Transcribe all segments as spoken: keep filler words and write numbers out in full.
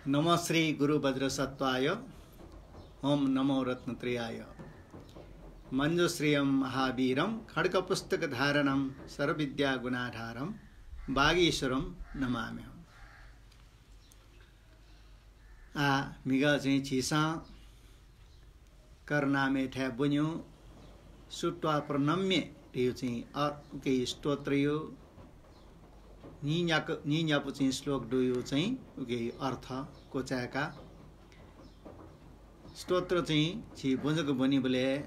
नमः श्री गुरु वज्रसत्त्वाय, ओम नमो रत्नत्रयाय। मञ्जुश्रियं महावीरं खड्गपुस्तकधारणं सर्वविद्यागुणाधारं वागीश्वरं नमाम्यहम्। आः म्हिगः चाहिँ झीसं करनामय् थाय् ब्वन्यु सुत्वा प्रणम्य धयु चाहिँ अ-, उके स्तोत्रयु निन्याक-, निन्यापु चाहिँ श्लोक दुयु चाहिँ उके अर्थ क्वचाय्का। स्तोत्र चाहिँ झी ब्वंजक ब्वनीबलय्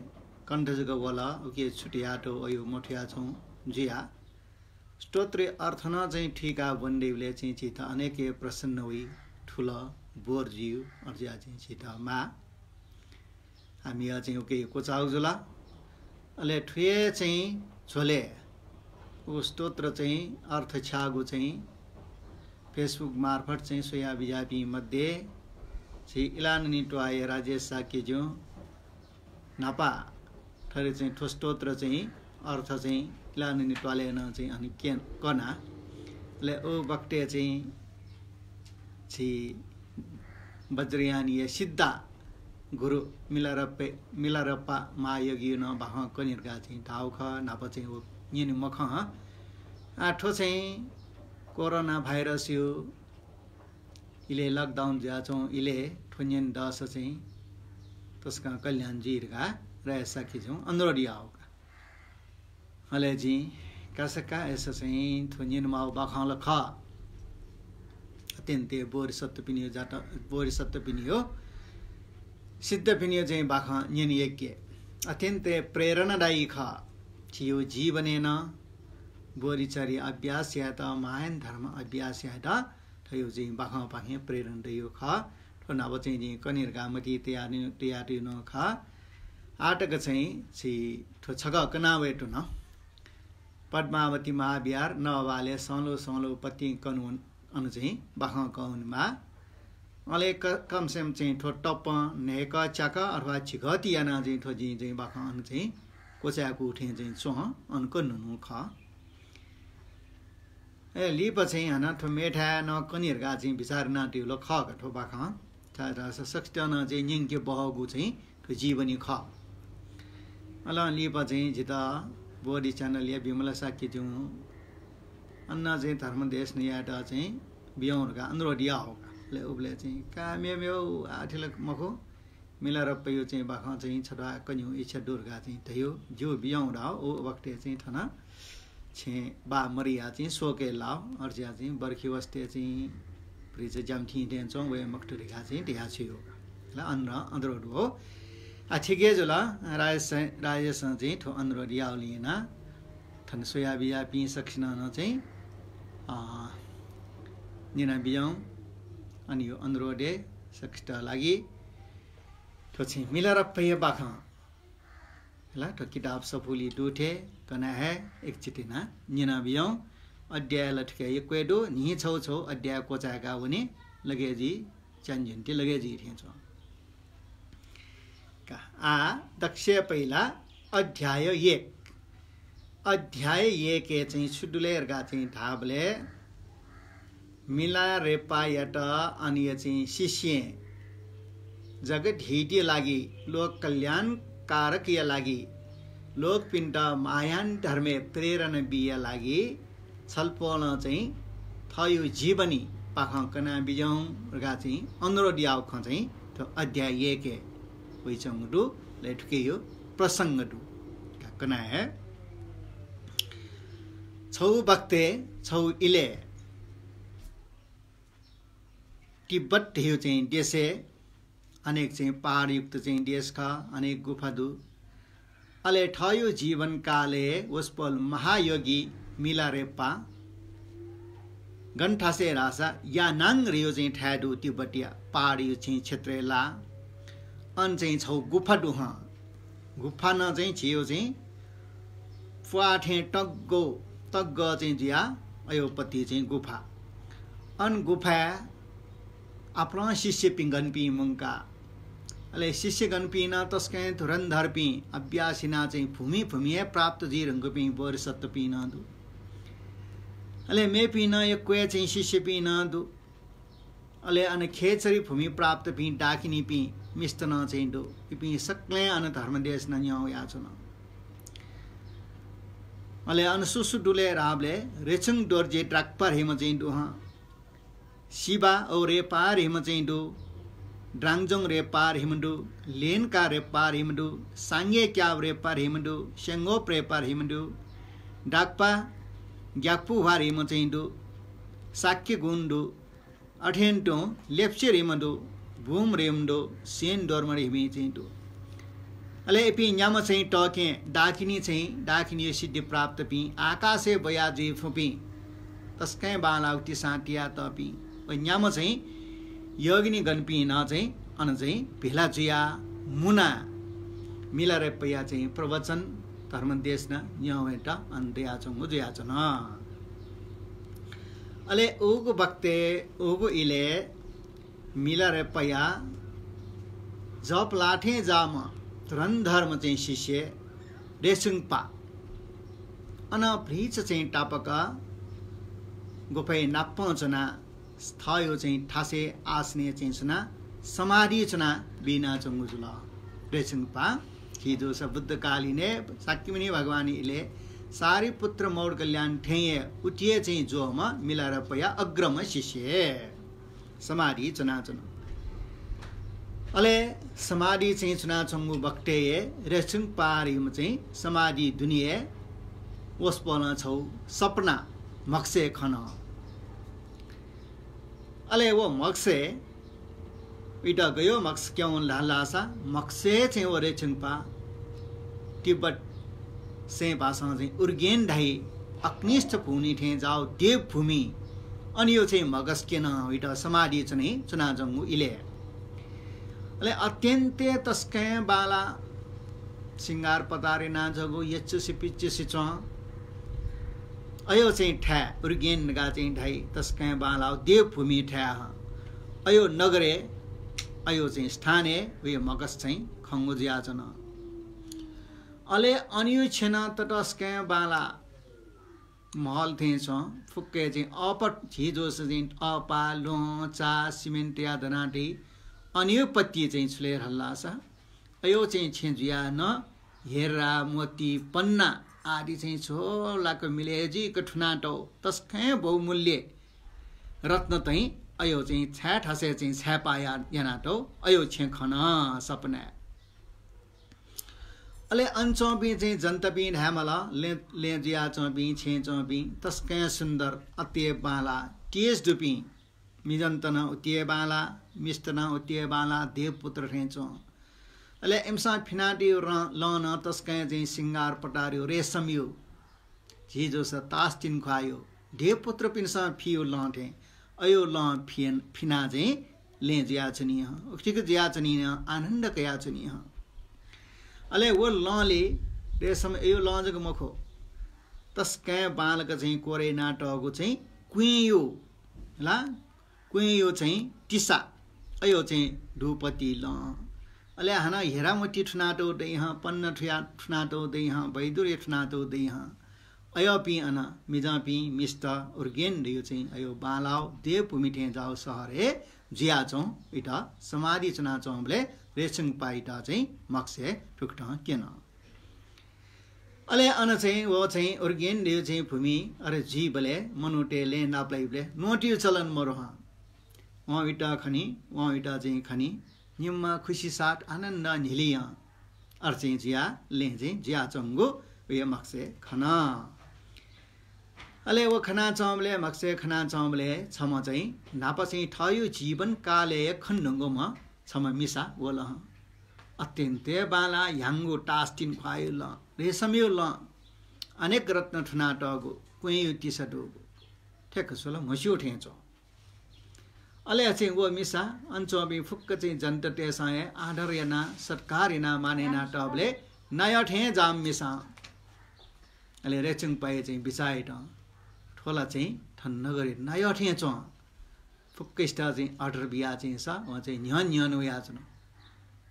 कण्ठ जक वल, उके छुट्यातु अयु मथुयाच्वं जुया। स्तोत्र अर्थ नं चाहिँ थुइका ब्वनेबलय् चाहिँ झीत अनेक प्रसन्न वइ, थुल बोर जुयु, अज्या चाहिँ झीत माः। आः म्हिगः चाहिँ उके क्वचाउ जुल। अले थुये चाहिँ झ्वले उ स्तोत्र चाहिँ अर्थ छ्यागु चाहिँ Facebook मार्फत चाहिँ स्वया बिज्यापिं मध्ये झी इलाननी त्वाःया राजेश शाक्यज्यू न्हापा थरी चाहिँ थ्व स्तोत्र चाहिँ अर्थ चाहिँ इलाननी त्वालय् नं चाहिँ अन के-, कना। अले उ बखतय् चाहिँ झी वज्रयानया सिद्धा गुरु मिलारप्पे-, मिलारप्पा महायोगीयु नं बाखं कने धकाः चाहिँ धाउ खः, न्हापा चाहिँ व न्यने मखं। आः थ्व चाहिँ कोरोना भाइरसयु इलय् lockdown जुयाच्वं इलय् थ्व न्यने दःसा चाहिँ तसकं कल्याण जुइ धकाः राजेश शाक्यज्यूं अनुरोध याउ का। अले जिं कासा का अय्सा चाहिँ थ्व न्यने माउ बाखं ला खः। अत्यन्तय् बोधिसत्वपिनियु जात, बोधिसत्वपिनियु सिद्धपिनियु चाहिँ बाखं न्यने योग्य। अत्यन्तय् प्रेरणादायी खः। झीयु जीवनय् नं बोधिचर्या अभ्यास यायेत, महायान धर्म अभ्यास यायेत थ्व चाहिँ बाखंपाखें प्रेरणा दयु खः। थ्व न्हापा चाहिँ जिं कने धकाः मतिइ तया-, तयातयु नं खः। आः तक चाहिँ झी थ्व छकः कना वये धुन। पद्मावती महाविहार नवालय् संलु संलु पतिं कनु अन चाहिँ बाखं कः वनेमाः। अले क-, कम से कम चाहिँ थ्व तपं न्हय्कः च्याकः अथवा झिकः ति यानाः चाहिँ थ्व जिं चाहिँ बाखं अन चाहिँ क्वचाय्कू थें चाहिँ च्वं, अन कन्हु नु खः। ए, लिपा चाहिँ हानं थ्व मेथाय् नं कने धकाः चाहिँ बिचाः यानातयु ला खः का थ्व बाखं। छाय्धाःसा सकसितं नं चाहिँ न्यंके बहःगु चाहिँ थ्व जीवनी खः। अले लिपा चाहिँ जितः बोधि channel या विमला शाक्यज्यूं अन चाहिँ धर्म देशना यायेत चाहिँ बियौ धकाः अनुरोध याउ का। अले उबलय् चाहिँ का मेमेउ आः थथे ला मखु, मिलारप्पायु चाहिँ बाखं चाहिँ छता कन्यु इच्छा दु धकाः चाहिँ धयु, ज्यू बियौ धाउ। उ बखतय् चाहिँ थन छेँ बा मरिया चाहिँ शोकय् लाउ, अज्या चाहिँ बर्खी वसतय् चाहिँ भ्रिचा ज्याम थिं थें च्वं वये मखुत धकाः चाहिँ धया छु यो ला अन-, अनुरोध हो। आ, ठीक हे जुल, राजेश, राजेशं चाहिँ थ्व अनुरोध याउलिं यानाः थन स्वया बिज्यापिं सकसिनं नं चाहिँ, अ, न्यना बियौ। अन यो अनुरोध हे सकसित लागि थ्व चाहिँ मिलारप्पाया बाखं ला थ्व किताब सफुली दु थें कना हे एकचिति यानाः न्यना बियौ। अध्याय ला थुके यक्व हे दु, न्हि छौ छौ अध्याय क्वचाय्का वने, लगे जुइ, च्यान्ज्यन्ति लगे जुइ थें च्वं। का, आ, दक्वसिबें पहिला अध्याय एक। अध्याय एकय् चाहिँ छु दु ले धकाः चाहिँ धाःबलय् मिलारेपायात अनया चाहिँ शिष्यं जगत हितया लागि, लोक कल्याण कारकया लागि, लोकपिन्त महायान धर्मय् प्रेरणा बीया लागि छलपोलं चाहिँ थःयु जीवनी बाखं कना बिज्याउ धकाः चाहिँ अनुरोध याउ खँ चाहिँ थ्व अध्याय एकय् वइच्वंगु दु। अले थुकियु प्रसंग दु। का कना हे। छौ बखतय्, छौ इलय् तिब्बत धयु चाहिँ देशय् अनेक चाहिँ पहाडयुक्त चाहिँ देश खः, अनेक गुफा दु। अले थःयु जीवनकालय् वसपोल महायोगी मिलारेपा गन थासय् धाःसा यानाङ धयु चाहिँ थाय् दु तिब्बतया पहाडयु चाहिँ क्षेत्रय् ला। अन चाहिँ छौ गुफा दु हं। गुफा नं चाहिँ झीयु चाहिँ प्वाः थें तग्गो, तग्गः चाहिँ जुया अयोपति चाहिँ गुफा। अन गुफाय् आपालं शिष्यपिं गनपिं मुंका। अले शिष्यगणपिं नं तसकं धुरन्धरपिं, अभ्यास यानाः चाहिँ भूमि भूमि हे प्राप्त जुइ धुंकूपिं बोधिसत्वपिं नं दु। अले मेपिं नं यक्व हे चाहिँ शिष्यपिं नं दु। अले अन खेचरी भूमि प्राप्तपिं डाकिनीपिं मिस्त नं चाहिँ दु। इपिं सकलें अन धर्मदेशना न्ह्यः वयाच्वन। अले अन सु सु दु ले धाःबलय् रेछुङ दोर्जे द्राक्पा धइम्ह चाहिँ दु हं। सिबा औ रेपा धइम्ह चाहिँ दु। द्राङजोङ रेपा धइम्ह दु। लेनका रेपा धइम्ह दु। सांगे क्याब रेपा धइम्ह दु। स्यंगोप रेपा धइम्ह दु। डाक्पा ग्याक्पुह्वा धइम्ह चाहिँ दु। शाक्य गुण दु। अथें तुं लेप्चे धइम्ह दु। बुम धइम्ह दु। सेन दोर्म धइम्ह चाहिँ दु। अले इपिं न्याम्ह चाहिँ तःकें डाकिनी चाहिँ, डाकिनीया सिद्धि प्राप्तपिं आकाशय् ब्वया जुइफुपिं तसकं बांलाःगु तिसां तियातःपिं व न्याम्ह चाहिँ यगिनी गणपिं नं चाहिँ अन चाहिँ भेला जुयाः मुनाः मिलारेपाया चाहिँ प्रवचन धर्मदेशना न्ह्यः वयेत अन दयाच्वंगु जुयाच्वन। अले उगु बखतय् उगु इलय् मिलारेपाया जःलाथें जाःम्ह धुरन्धरम्ह चाहिँ शिष्य रेछुङपा अन भ्रिच चाहिँ तापाक गुफाय् नापं च्वनाः थःयो चाहिँ थासय् आसनय् चाहिँ च्वनाः समाधि च्वनाः बिनाच्वंगु जुल। रेछुङपा झी जूसा बुद्धकालीनय् शाक्यमुनि भगवान इलय् सारिपुत्र मौद्गल्यायन थें हे उतिए चाहिँ ज्वःम्ह मिलारेपाया अग्रम्ह शिष्य समाधि च्वनाच्वन। अले समाधि चाहिँ च्वनाच्वंगु बखतय् हे रेछुङपा धइम्ह चाहिँ समाधि दुने हे वसपोलं छगू सपना म्हगसय् खन। अले व म्हगसय् इमित गयो म्हगस क्यं धाल धाःसा म्हगसय् चाहिँ व रेछुङपा तिब्बत सें भाषां चाहिँ उर्गेन धाइ अग्निष्ठ भूमि थें जाःगु देवभूमि अन यो चाहिँ म्हगस क्यन इमित समाधि च्वने च्वनाच्वंगु इलय्। अले अत्यन्त तसकं बांलाः सिंगार पतार यानाच्वंगु यचुसि पिचुसि च्वं। अयो चाहिँ थाय् उर्गेन धकाः चाहिँ धाइ तसकं बांलाःगु देवभूमि थाय् हं। अयो नगरय् अयो चाहिँ स्थानय् वयो म्हगस चाहिँ खंगु जुयाच्वन। अले अन यो छेँ नं ततसकं बांलाः महल थें च्वं। फुक्कय् चाहिँ अःपा झी जूसा चाहिँ अःपा, ल्वहं, चा, सिमेन्टया दनातइ। अन यो पत्ति चाहिँ छु ले धाल धाःसा अयो चाहिँ छेँ जुयाः नं हिरा, मोती, पन्ना आदि चाहिँ झोलाक मिले जुइक थुनातौ तसकं बहुमूल्य रत्न चाहिँ अयो चाहिँ छाय् थासय् चाहिँ छाय्‌पाः या-, यानातौ अयो छेँ खन सपनाय्। अले अन च्वंपिं चाहिँ जनतापिं धायेमाल, लँय्, लँय् जुयाच्वंपिं, छेँय् च्वंपिं तसकं सुन्दर, अति बांलाः, तेज दुपिं, मिजंत नं उति हे बांलाः, मिस्त नं उति हे बांलाः, देवपुत्र थें च्वं। अले इमिसं फिनादीगु रं-, लँ नं तसकं चाहिँ सिंगार पतारयो, रेशमयो, झी जूसा तासतिन ख्वाःयो, देवपुत्रपिन्सं फियो लँ थें, अयो लँ फिन-, फिनाः चाहिँ लँय् जुयाच्वनी हं, उतिक जुयाच्वनी हं, आनन्द कयाच्वनी हं। अले व लँले रेशम अयो लँ जक मखु, तसकं बांलाक चाहिँ कोरे यानातःगु चाहिँ क्वेंयो ला, क्वेंयो चाहिँ तिसा, अयो चाहिँ धूपति लँ। अले हानं हिरामोती थुनातौ दइ हं, पन्ना थुया-, थुनातौ दइ हं, वैदुर्य थुनातौ दइ हं। अयोपिं अन मिजंपिं मिस्त उर्गेन धयो चाहिँ अयो बांलाव देवभूमि थें जाव शहरय् जुयाच्वं। इत समाधि च्वनाच्वंबलय् रेछुङपाइत चाहिँ म्हगसय् थुकथं क्यन। अले अन चाहिँ व चाहिँ उर्गेन धयो चाहिँ भूमि अले जुइबलय् मनूतय् लँय् नापलाइबलय् न्वंतियो चलन मरु हं। वं इत खनी, वं इत चाहिँ खनी, निम्ह खुसी साथ आनन्द न्हिलियं अर चाहिँ जुया लँय् चाहिँ जुयाच्वंगु उये म्हगसय् खन। अले व खनाच्वंबलय्, म्हगसय् खनाच्वंबलय् छम्ह चाहिँ न्हापा चाहिँ थःयो जीवन कालय् खनेधुंगुम्ह छम्ह मिसा वल हं। अत्यन्त बांलाः ह्याउँगु तासतिन ख्वाःयो लँ, रेशमयो लँ, अनेक रत्न थुनातःगु, क्वेंयो तिसा दुगु, ठ्याक्क स्वला म्हस्यू थें च्वं। अले चाहिँ व मिसा अन च्वंपिं फुक्क चाहिँ जनतातय्सं हे आदर यानाः, सत्कार यानाः, मान यानातःबलय् नायः थें जाःम्ह मिसा। अले रेछुङपाया चाहिँ बिचाः यात, थ्व ला चाहिँ थन नगरय् नायः थें च्वं। फुक्कसित चाहिँ आदर बियाः चाहिँ सा, वं चाहिँ न्ह्यःने न्ह्यःने वयाच्वन।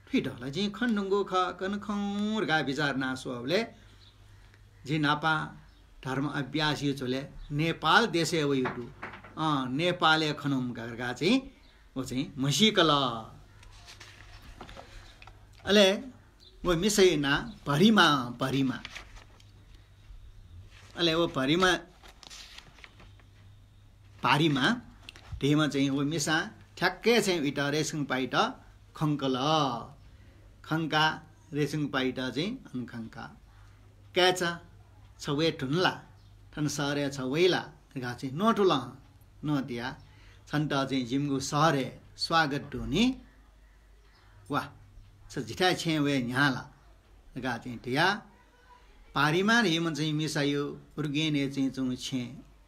थुइत ला जिं खनेधुंगु खः, कन खं धकाः बिचाः यानाः स्वःबलय् जि न्हापा धर्म अभ्यासया झ्वलय् नेपाल देशय् वयागु दु। अँ, नेपालय् खनेधुंगु धकाः चाहिँ व चाहिँ म्हसीकल। अले व मिसाया नां भरिमा, भरिमा। अले व भरिमा, भारिमा धइम्ह चाहिँ व मिसां ठ्याक्कै चाहिँ उइत रेछुङपाइत खंकल। खंकाः रेछुङपाइत चाहिँ अन खंकाः, "काय्‌चा, छ वये धुन ला? थन शहरय् छ वइ ला?" धकाः चाहिँ न्वतुल हं। न्वतियाः, "छन्त चाहिँ जिमिगु शहरय् स्वागत दु नि। वा, छ जिथाय् छेँय् वये न्ह्याः ला?" धकाः चाहिँ धयाः, भारिमा धइम्ह चाहिँ मिसाया उर्गेनय् चाहिँ च्वंगु छेँ,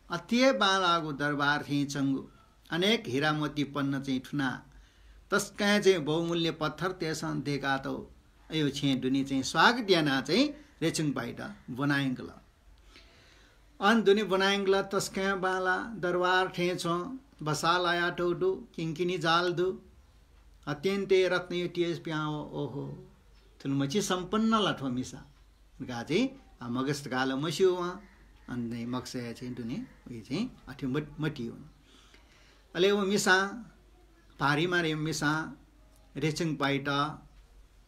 अति हे बांलाःगु दरबार थें च्वंगु, अनेक हिरामोती पन्ना चाहिँ थुना, तसकं चाहिँ बहुमूल्य पत्थरतय्‌सं दय्‌कातःगु अय् छेँय् दुने चाहिँ स्वागत यानाः चाहिँ रेछुङपाइत ब्वनायंकल। अन दुने ब्वनायंकल, तसकं बांलाः, दरबार थें च्वं, बसाः लायातःगु दु, किंकिनी जाल दु, अत्यन्तय् रत्नयुक्तय् पिहां वः, ओहो, थुलिमछि सम्पन्न ला थ्व मिसा धकाः चाहिँ, आ, मखुस धकाः ला मस्यू वं, अन चाहिँ मखुसय् चाहिँ दुने, उइ चाहिँ अथे मत-, मतिइ वन। अले व मिसां, भारिमा धइम्ह मिसां रेछुङपाइत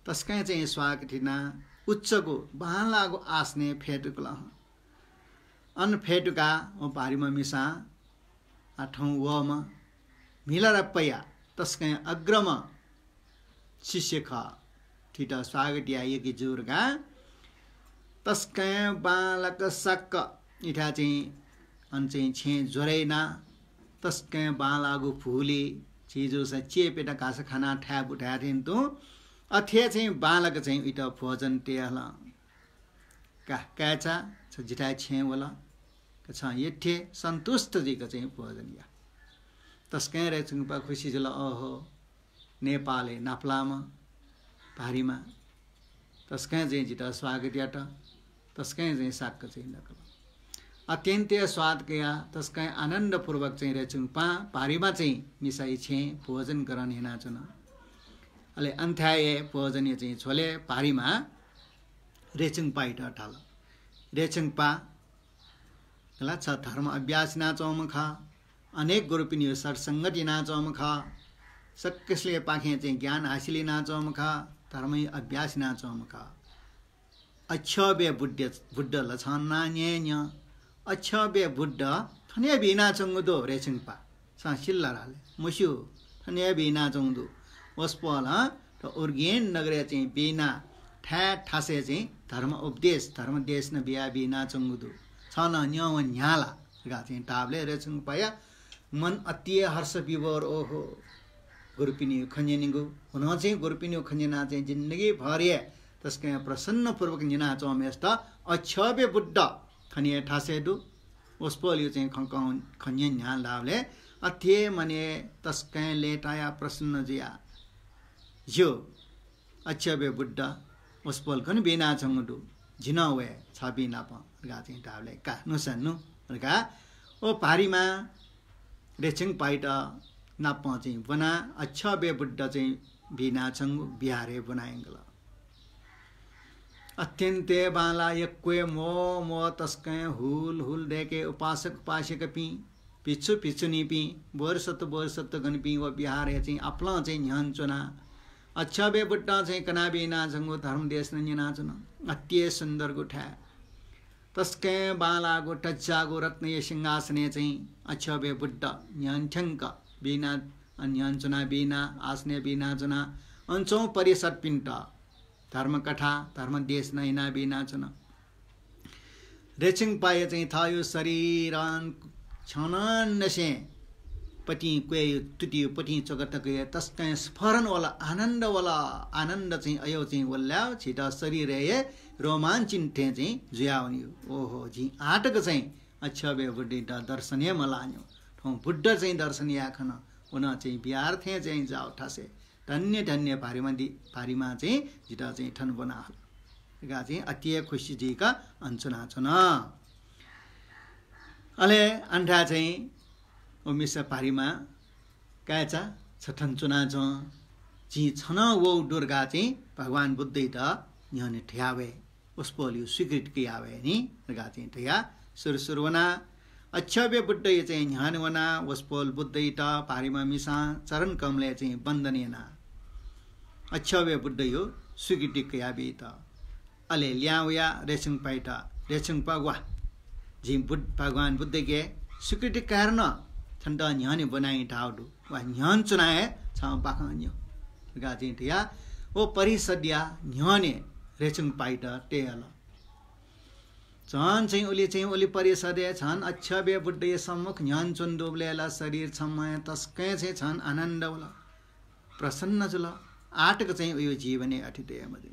तसकं चाहिँ स्वागत यानाः उच्चगु बांलाःगु आसनय् फ्यतुकल हं। अन फ्यतुकाः व भारिमा मिसां आ थौं वःम्ह म्हिलारापाया तसकं अग्रम्ह शिष्य खः। थुइत स्वागत याये यःगु जुल का। तसकं बांलाक सक्क इथाय् चाहिँ अन चाहिँ छेँ ज्वरय् यानाः तसकं बांलाःगु भुलि झी जूसा चेपय्‌त घाःसा खानाः थाय् बुथाय् थें तुं अथे चाहिँ बांलाक चाहिँ उइत भोजन तये हल। का, काय्‌चा, छ जिथाय् छेँय् वल। का, छं यथे सन्तुष्ट जुइक चाहिँ भोजन या। तसकं रेछुङपा खुसी जुल, ओहो, नेपालय् नापलाःम्ह भारिमा तसकं चाहिँ जितः स्वागत यात, तसकं चाहिँ साक्क चाहिँ नकल। अत्यन्त स्वाद कयाः तसकं आनन्दपूर्वक चाहिँ रेछुङपां भारिमा चाहिँ मिसाया छेँय् भोजन ग्रहण यानाच्वन। अले अन थाय् हे भोजनया चाहिँ झ्वलय् भारिमा रेछुङपाइत धाल, रेछुङपा, ला छ धर्म अभ्यास यानाच्वंम्ह खः, अनेक गुरुपिनिगु सत्संगत यानाच्वंम्ह खः, सकसियापाखें चाहिँ ज्ञान हासिल यानाच्वंम्ह खः, धर्मया अभ्यास यानाच्वंम्ह खः। अक्षोभ्य बुद्ध, बुद्ध ला छं नां न्यँ न्यँ। अक्षोभ्य बुद्ध थन हे बिनाच्वंगु दु रेछुङपा। छं सिल ला धाल, मस्यू, थन हे बिनाच्वंगु दु। वसपोलं थ्व उर्गेन नगरय् चाहिँ बिनाः थाय् थासय् चाहिँ धर्म उपदेश, धर्म देशना बियाः बिनाच्वंगु दु। छं नं न्यं वने न्ह्याः ला धकाः चाहिँ धाःबलय् रेछुङपाया मन अति हे हर्ष विभोर, ओहो, गुरुपिनिगु खँ न्यनेगु, हुनं चाहिँ गुरुपिनिगु खँ न्यनाः चाहिँ जिन्दगीभर हे तसकं प्रसन्नपूर्वक न्यनाच्वंम्हेसित अक्षोभ्य बुद्ध थन हे थासय् दु। वसपोलया चाहिँ खँ, खँ, खँ न्यने न्ह्याः धाःबलय् अथे हे मनय् तसकं लय्तायाः प्रसन्न जुयाः, ज्यू, अक्षोभ्य बुद्ध, वसपोल गन बिनाच्वंगु दु, जि नं वये छपिं नाप धकाः चाहिँ धाःबलय्, का, नु सा नु धकाः व भारिमा रेछुङपाइत नाप चाहिँ ब्वनाः अक्षोभ्य बुद्ध चाहिँ बिनाच्वंगु विहारय् ब्वनायंकल। अत्यन्त हे बांलाः, यक्व हे म्वः म्वः तसकं हुल हुल दय्के उपासक उपासिकापिं, भिक्षु भिक्षुणीपिं, बोधिसत्व बोधिसत्वगणपिं व विहारय् चाहिँ आपालं चाहिँ न्ह्यःने च्वनाः अक्षोभ्य बुद्धं चाहिँ कना बिनाच्वंगु धर्मदेशना न्यनाच्वन। अति हे सुन्दरगु थाय्। तसकं बांलाःगु तज्जाःगु रत्नया सिंहासनय् चाहिँ अक्षोभ्य बुद्ध न्ह्यःने थ्यंक बिना, न्ह्यःने च्वना बिना, आसनय् बिनाच्वना, अन च्वंम्ह परिषद्पिन्त धर्मकथा, धर्मदेशना याना बिनाच्वन। रेछुङपाया चाहिँ थःगु शरीरं छ्यनंनिसें पतिं क्वय् तुतिं पतिं च्वका तक हे तसकं स्फरण वल, आनन्द वल। आनन्द चाहिँ अय् चाहिँ वल ला, झीत शरीरय् हे रोमाञ्चित थें चाहिँ जुयावनीगु। ओहो, जिं आःतक चाहिँ अक्षोभ्य बुद्धयात दर्शन हे मलाःन्यु। थौं बुद्ध चाहिँ दर्शन याये खन, व नं चाहिँ विहार थें चाहिँ जाःगु थासय्। धन्य धन्य भारिमा दि, भारिमा चाहिँ जितः चाहिँ थन ब्वना हल धकाः चाहिँ अति हे खुसी जुइक अन च्वनाच्वन। अले अन थाय् चाहिँ व मिसा भारिमा, काय्‌चा, छ थन च्वनाच्वँ, जिं छन्त वःगु दु धकाः चाहिँ भगवान बुद्धयात न्ह्यःने धया वये, वसपोलया स्वीकृति कया वये नि धकाः चाहिँ धयाः सुरु सुरु वनाः अक्षोभ्य बुद्धया चाहिँ न्ह्यःने वनाः वसपोल बुद्धयात भारिमा मिसां चरण कमलय् चाहिँ वन्दन यानाः अक्षोभ्य बुद्धया स्वीकृति कयाबीत। अले लिहां वयाः रेछुंपाइत, रेछुंपा वा, जिं बुद्ध, भगवान बुद्धके स्वीकृति कायेधुन, छन्त न्ह्यःने ब्वनाइ धाःगु दु। वा न्ह्यःने च्वनाः हे छं बाखं न्यँ धकाः चाहिँ धयाः व परिषदया न्ह्यःने रेछुंपाइत तये हल। झन चाहिँ उलि चाहिँ उलि परिषदय् झन अक्षोभ्य बुद्धया सम्मुख न्ह्यःने च्वने दुबलय् ला शरीर छम्हं तसकं चाहिँ झन आनन्द वल, प्रसन्न जुल। आःतक चाहिँ उयो जीवनय् अथे तये मजू।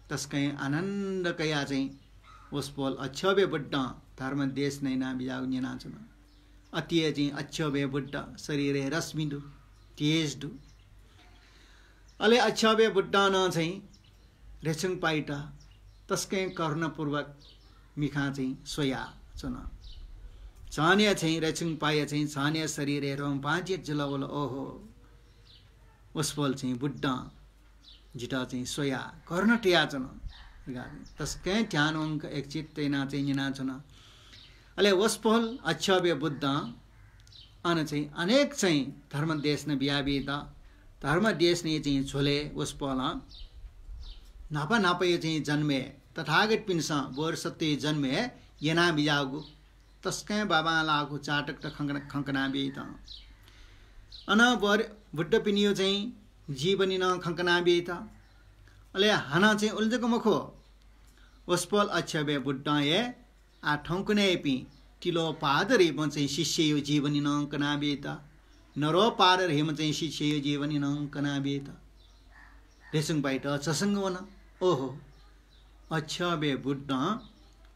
तसकं आनन्द कयाः चाहिँ वसपोल अक्षोभ्य बुद्धं धर्म देशना यानाबिज्याःगु न्यनाच्वन। अथे हे चाहिँ अक्षोभ्य बुद्ध शरीरय् रश्मि दु, तेज दु। अले अक्षोभ्य बुद्धं नं चाहिँ रेछुंपाइत तसकं करुणापूर्वक मिखां चाहिँ स्वयाच्वन। झन हे चाहिँ रेछुंपाया चाहिँ झन हे शरीरय् रोमपांचित जुल वल। ओहो, वसपोल चाहिँ बुद्धं जितः चाहिँ स्वयाः करुणा तयाच्वन। तसकं ध्यानवंक एकचित्त यानाः चाहिँ न्यनाच्वन। अले वसपोल अक्षोभ्य बुद्धं अन चाहिँ अनेक चाहिँ धर्म देशना बियाबीत, धर्म देशनाया चाहिँ झ्वलय् वसपोलं न्हापा न्हापाया चाहिँ जन्मय् तथागतपिन्सं बोधिसत्वया जन्मय् यानाबिज्याःगु तसकं बांबांलाःगु जातकत खंकना, खंकनाबीत। अन बोधि, बुद्धपिनियो चाहिँ जीवनी नं खंकनाबीत। अले हानं चाहिँ उलि जक मखु, वसपोल अक्षोभ्य बुद्धं हे आः थौंकन्हय्‌पिं तिलोपाद धइम्ह चाहिँ शिष्ययो जीवनी नं कनाबीत, नरोपाद धइम्ह चाहिँ शिष्ययो जीवनी नं कनाबीत। रेछुंपाइत झसंग वन। ओहो, अक्षोभ्य बुद्धं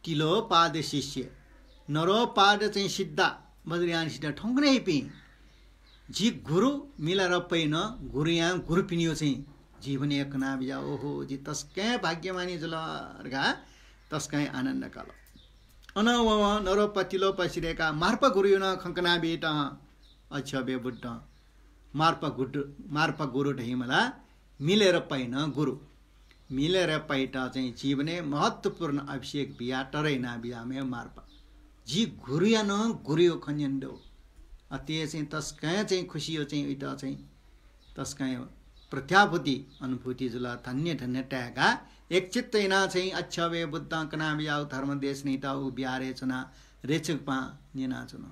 तिलोपाद शिष्य, नरोपाद चाहिँ सिद्ध, वज्रयान सिद्ध थौंकन्हय्‌पिं जि गुरु मिलारेपाया नं गुरुयां गुरुपिनियो चाहिँ जीवनी कनाबिज्याः। ओहो, जि तसकं भाग्यमानी जुल धकाः तसकं आनन्द काल। अन वं नरोपा तिलोपा सिधयेकाः मार्पा गुरुयो नं खंकनाबीत अक्षोभ्य बुद्धं। मार्पा गुरु, मार्पा गुरु धइम्ह ला मिलारेपाया नं गुरु। मिलारेपाइत चाहिँ जीवनय् महत्त्वपूर्ण अभिषेक बियाः तःधं यानाबिज्याःम्ह मार्पा। जि गुरुया नं गुरुयो खँ न्यने दु। अथे हे चाहिँ तसकं चाहिँ खुसीयो चाहिँ उइत चाहिँ तसकं प्रत्याभूति अनुभूति जुल। धन्य धन्य ताय्‌काः एकचित्त यानाः चाहिँ अक्षोभ्य बुद्धं कनाबिज्याःगु धर्म देशनायात उ बिहारय् च्वनाः रेछुंपां न्यनाच्वन।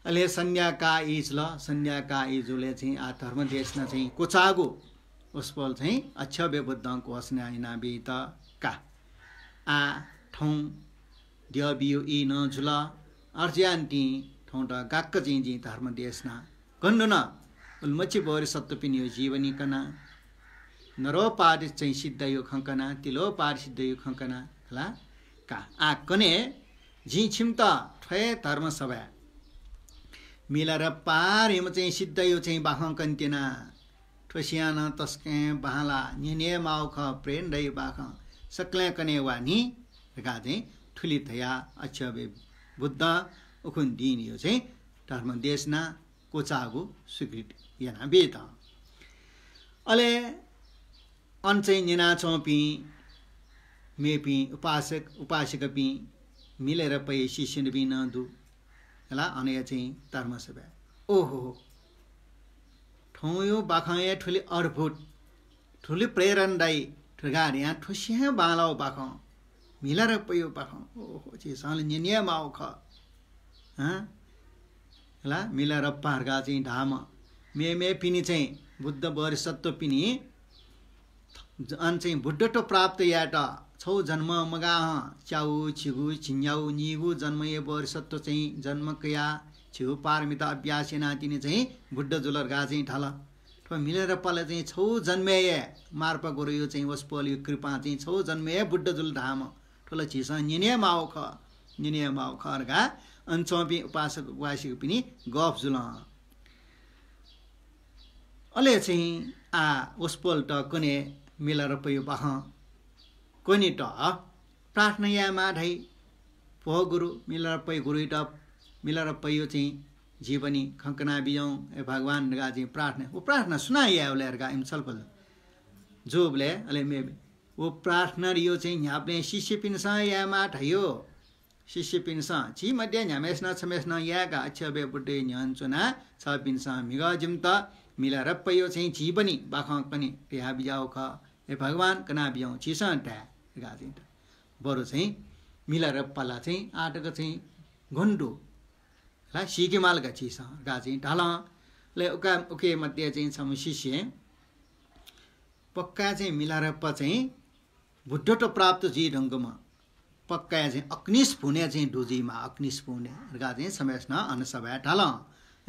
अले सन्ध्याकाः ई जुल। सन्ध्याकाः ई जूबलय् चाहिँ आः धर्म देशना चाहिँ क्वचाःगु वसपोल चाहिँ अक्षोभ्य बुद्धं घोषणा यानाबीत का। आः थौं द्यःबियो ई नं जुल। अथे जुयानिंतिं थौंत गाक्क चाहिँ जिं धर्म देशना कने धुन। उलिमछि बोधिसत्वपिनियो जीवनी कना, नरोपाद चाहिँ सिद्धयो खँ कना, तिलोपाद सिद्धयो खँ कना हला का। आः कन्हय् जिं छिमित थ्व हे धर्मसभाय् मिलारेपा धइम्ह चाहिँ सिद्धयो चाहिँ बाखं कने त्यना। थ्व सियां नं तसकं बांलाः, न्यने हे माःगु खः, प्रेरणादायी बाखं, सकलें कने वा नि धकाः चाहिँ थुलि धयाः अक्षोभ्य बुद्धं उखुन्हु दिनयो चाहिँ धर्म देशना क्वचाःगु स्वीकृति यानाबीत। अले अन चाहिँ न्यनाच्वंपिं मेपिं उपासक उपासिकापिं मिलारेपाया शिष्यपिं नं दु हला, अनया चाहिँ धर्मसभाय्। ओहो, थौंयो बाखं हे थुलि अद्भुत, थुलि प्रेरणादायी धकाः धयां थुसियां बांलाःगु बाखं, मिलारेपायो बाखं। ओहो, झीसं ला न्यने हे माःगु खः। हँ? हला, मिलारेपा धकाः चाहिँ धाःम्ह मेमेपिनि चाहिँ बुद्ध बोधिसत्वपिनि अन चाहिँ बुद्धत्व प्राप्त यायेत छगू जन्म मगाहं च्यागू, झिगू, झिंन्यागू, निगू जन्मया बोधिसत्व चाहिँ जन्म कयाः झिगू पारमिता अभ्यास यानाः तिनि चाहिँ बुद्ध जुल धकाः चाहिँ धाल। थ्व मिलारेपां चाहिँ छगू जन्मय् हे मार्पा गुरुयो चाहिँ वसपोलयो कृपां चाहिँ छगू जन्मय् हे बुद्ध जुल धाःम्ह। थ्व ला झीसं न्यने हे माःगु खः, न्यने हे माःगु खः धकाः अन च्वंपिं उपासक उपासिकापिनि गफ जुल। अले चाहिँ आः वसपोलत कने मिलारेपायो बाखं कनेत प्रार्थना यायेमाः धाइ। भो गुरु, मिलारेपायो गुरुयात, मिलारेपायो चाहिँ जीवनी खँ कनाबिज्याहुँ, हे भगवान धकाः चाहिँ प्रार्थना। व प्रार्थना सुनां याये वल धकाः इमिसं छलफल जूबलय् अले मे व प्रार्थनायो चाहिँ न्ह्याबलें शिष्यपिन्सं यायेमाः धाइ। शिष्यपिन्सं झी मध्ये न्ह्याम्हय्‌सिनं छम्हय्‌सिनं याय्‌काः अक्षोभ्य बुद्धया न्ह्यःने च्वनाः छपिन्सं म्हिगः जिमित मिलारेपाया चाहिँ जीवनी बाखं कने धयाबिज्याःगु खः। हे भगवान, कनाबिज्याहुँ, झीसं धाये धकाः चाहिँ धाल। बरु चाहिँ मिलारेपा ला चाहिँ आःतक चाहिँ गन दु ला, सीके माल का झीसं धकाः चाहिँ धाल। अले उका, उकी मध्ये चाहिँ छम्ह शिष्यं पक्का चाहिँ मिलारेपा चाहिँ बुद्धत्व प्राप्त जुइ धुंकूम्ह, पक्का चाहिँ अक्निष्पुने चाहिँ दु जुइमाः, अक्निष्पुने धकाः चाहिँ छम्हय्‌सिनं अन सभाय् धाल।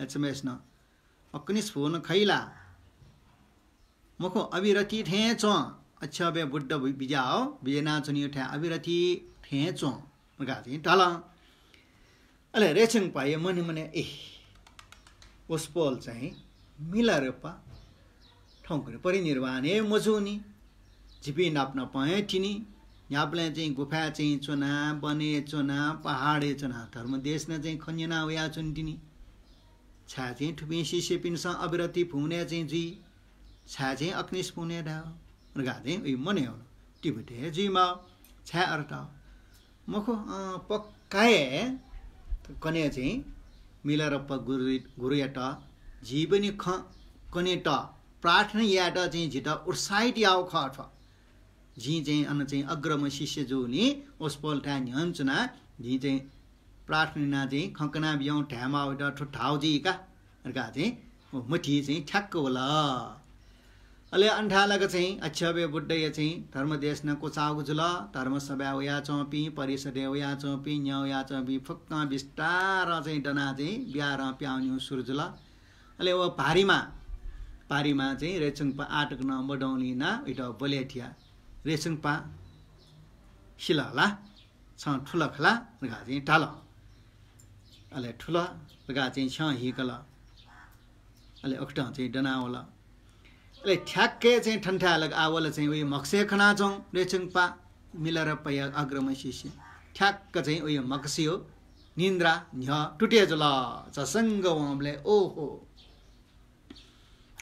छम्हय्‌सिनं अक्निष्पुन खइ ला? मखु, अविरति थें च्वँ, अक्षोभ्य बुद्ध बि-, बिज्याः, बिज्यानाच्वनीगु थाय् अविरति थें च्वँ धकाः चाहिँ धाल। अले रेछुंगपाया मनय् मनय्, ए, वसपोल चाहिँ मिलारेपा थौंकन्हय् परिनिर्वाण हे मजूनि। जिपिं नाप नापं हे तिनि। न्ह्याबलें चाहिँ गुफाय् चाहिँ च्वना, वनय् च्वना, पहाडय् च्वना धर्म देशना चाहिँ खँ न्यना वयाच्वनी तिनि। छाय् चाहिँ थुपिं शिष्यपिन्सं अविरति भुवनय् चाहिँ जुइ? छाय् चाहिँ अक्निष्पुने धाः धकाः चाहिँ उइ मनय् वन। तिब्बतय् हे जुइमाः, छाय् अरत? मखु, अँ, पक्का हे कने चाहिँ मिलारेपा गुरु, गुरुयात जीवनी खँ कनेत प्रार्थना यायेत चाहिँ जितः उत्साहित याःगु खः थ्व। जिं चाहिँ अन चाहिँ अग्रम शिष्य जूगुलिं वसपोलथाय् न्ह्यःने च्वनाः जिं चाहिँ प्रार्थना यानाः चाहिँ खँ कनाबिज्याहुँ धायेमाःगु वयात थ्व धाःगु जुइ का धकाः चाहिँ व मतिइ चाहिँ ठ्याक्क वल। अले अन थाय् लाक चाहिँ अक्षोभ्य बुद्धया चाहिँ धर्म देशना क्वचाःगु जुल। धर्मसभाय् वयाच्वंपिं, परिषदय् वयाच्वंपिं, न्ह्यः वयाच्वंपिं फुक्कं बिस्तारं चाहिँ दनाः चाहिँ बिहारं पिहां वनेगु सुरु जुल। अले व भारिमा, भारिमा चाहिँ रेछुंगपा आःतक नं मदंलिं वयात बलय् थियाः, रेछुंगपा, सिल ला? छं थुल खला धकाः चाहिँ धाल। अले थुल धकाः चाहिँ छ्यं हीकल। अले उकथं चाहिँ दनावल। अले ठ्याक्कै चाहिँ थनथाय् लाक आः वल चाहिँ उइ म्हगसय् खनाच्वंगु रेछुंगपा मिलारेपाया अग्रम शिष्य। ठ्याक्क चाहिँ उइ म्हगसया निन्द्रा न्ह्यः तुते जुल। झसंग वंबलय् ओहो,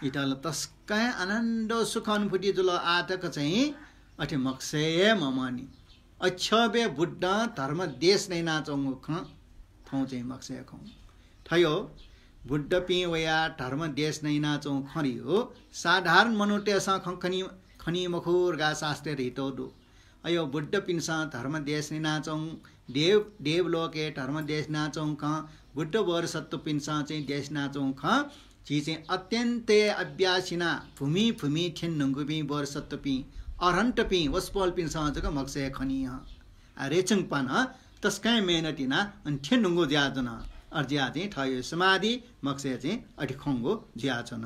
इमित ला तसकं आनन्द सुख अनुभूति जुल। आःतक चाहिँ अथे म्हगसय् हे मम्हनि। अक्षोभ्य बुद्धं धर्म देशना यानाच्वंगु खँ थौं चाहिँ म्हगसय् खं। थयो बुद्धपिं वयाः धर्म देशना यानाच्वंगु खँ धयो साधारण मनूतय्‌सं खँ खनी, खनी मखु धकाः शास्त्रय् धयातःगु दु। अयो बुद्धपिन्सं धर्म देशना यानाच्वंगु, देव, देवलोकय् धर्म देशना यानाच्वंगु खँ, बुद्ध बोधिसत्वपिन्सं चाहिँ देशना यानाच्वंगु खँ, झी चाहिँ अत्यन्त हे अभ्यास यानाः भूमि भूमि थ्यने धुंकूपिं बोधिसत्वपिं, अरहन्तपिं, वसपोलपिन्सं जक म्हगसय् खनी हं। आ, रेछुंगपां तसकं मेहनत यानाः अन थ्यने धुंकूगु जुयाच्वन। अथे जुयाः चाहिँ थःगु समाधि म्हगसय् चाहिँ अथे खंगु जुयाच्वन।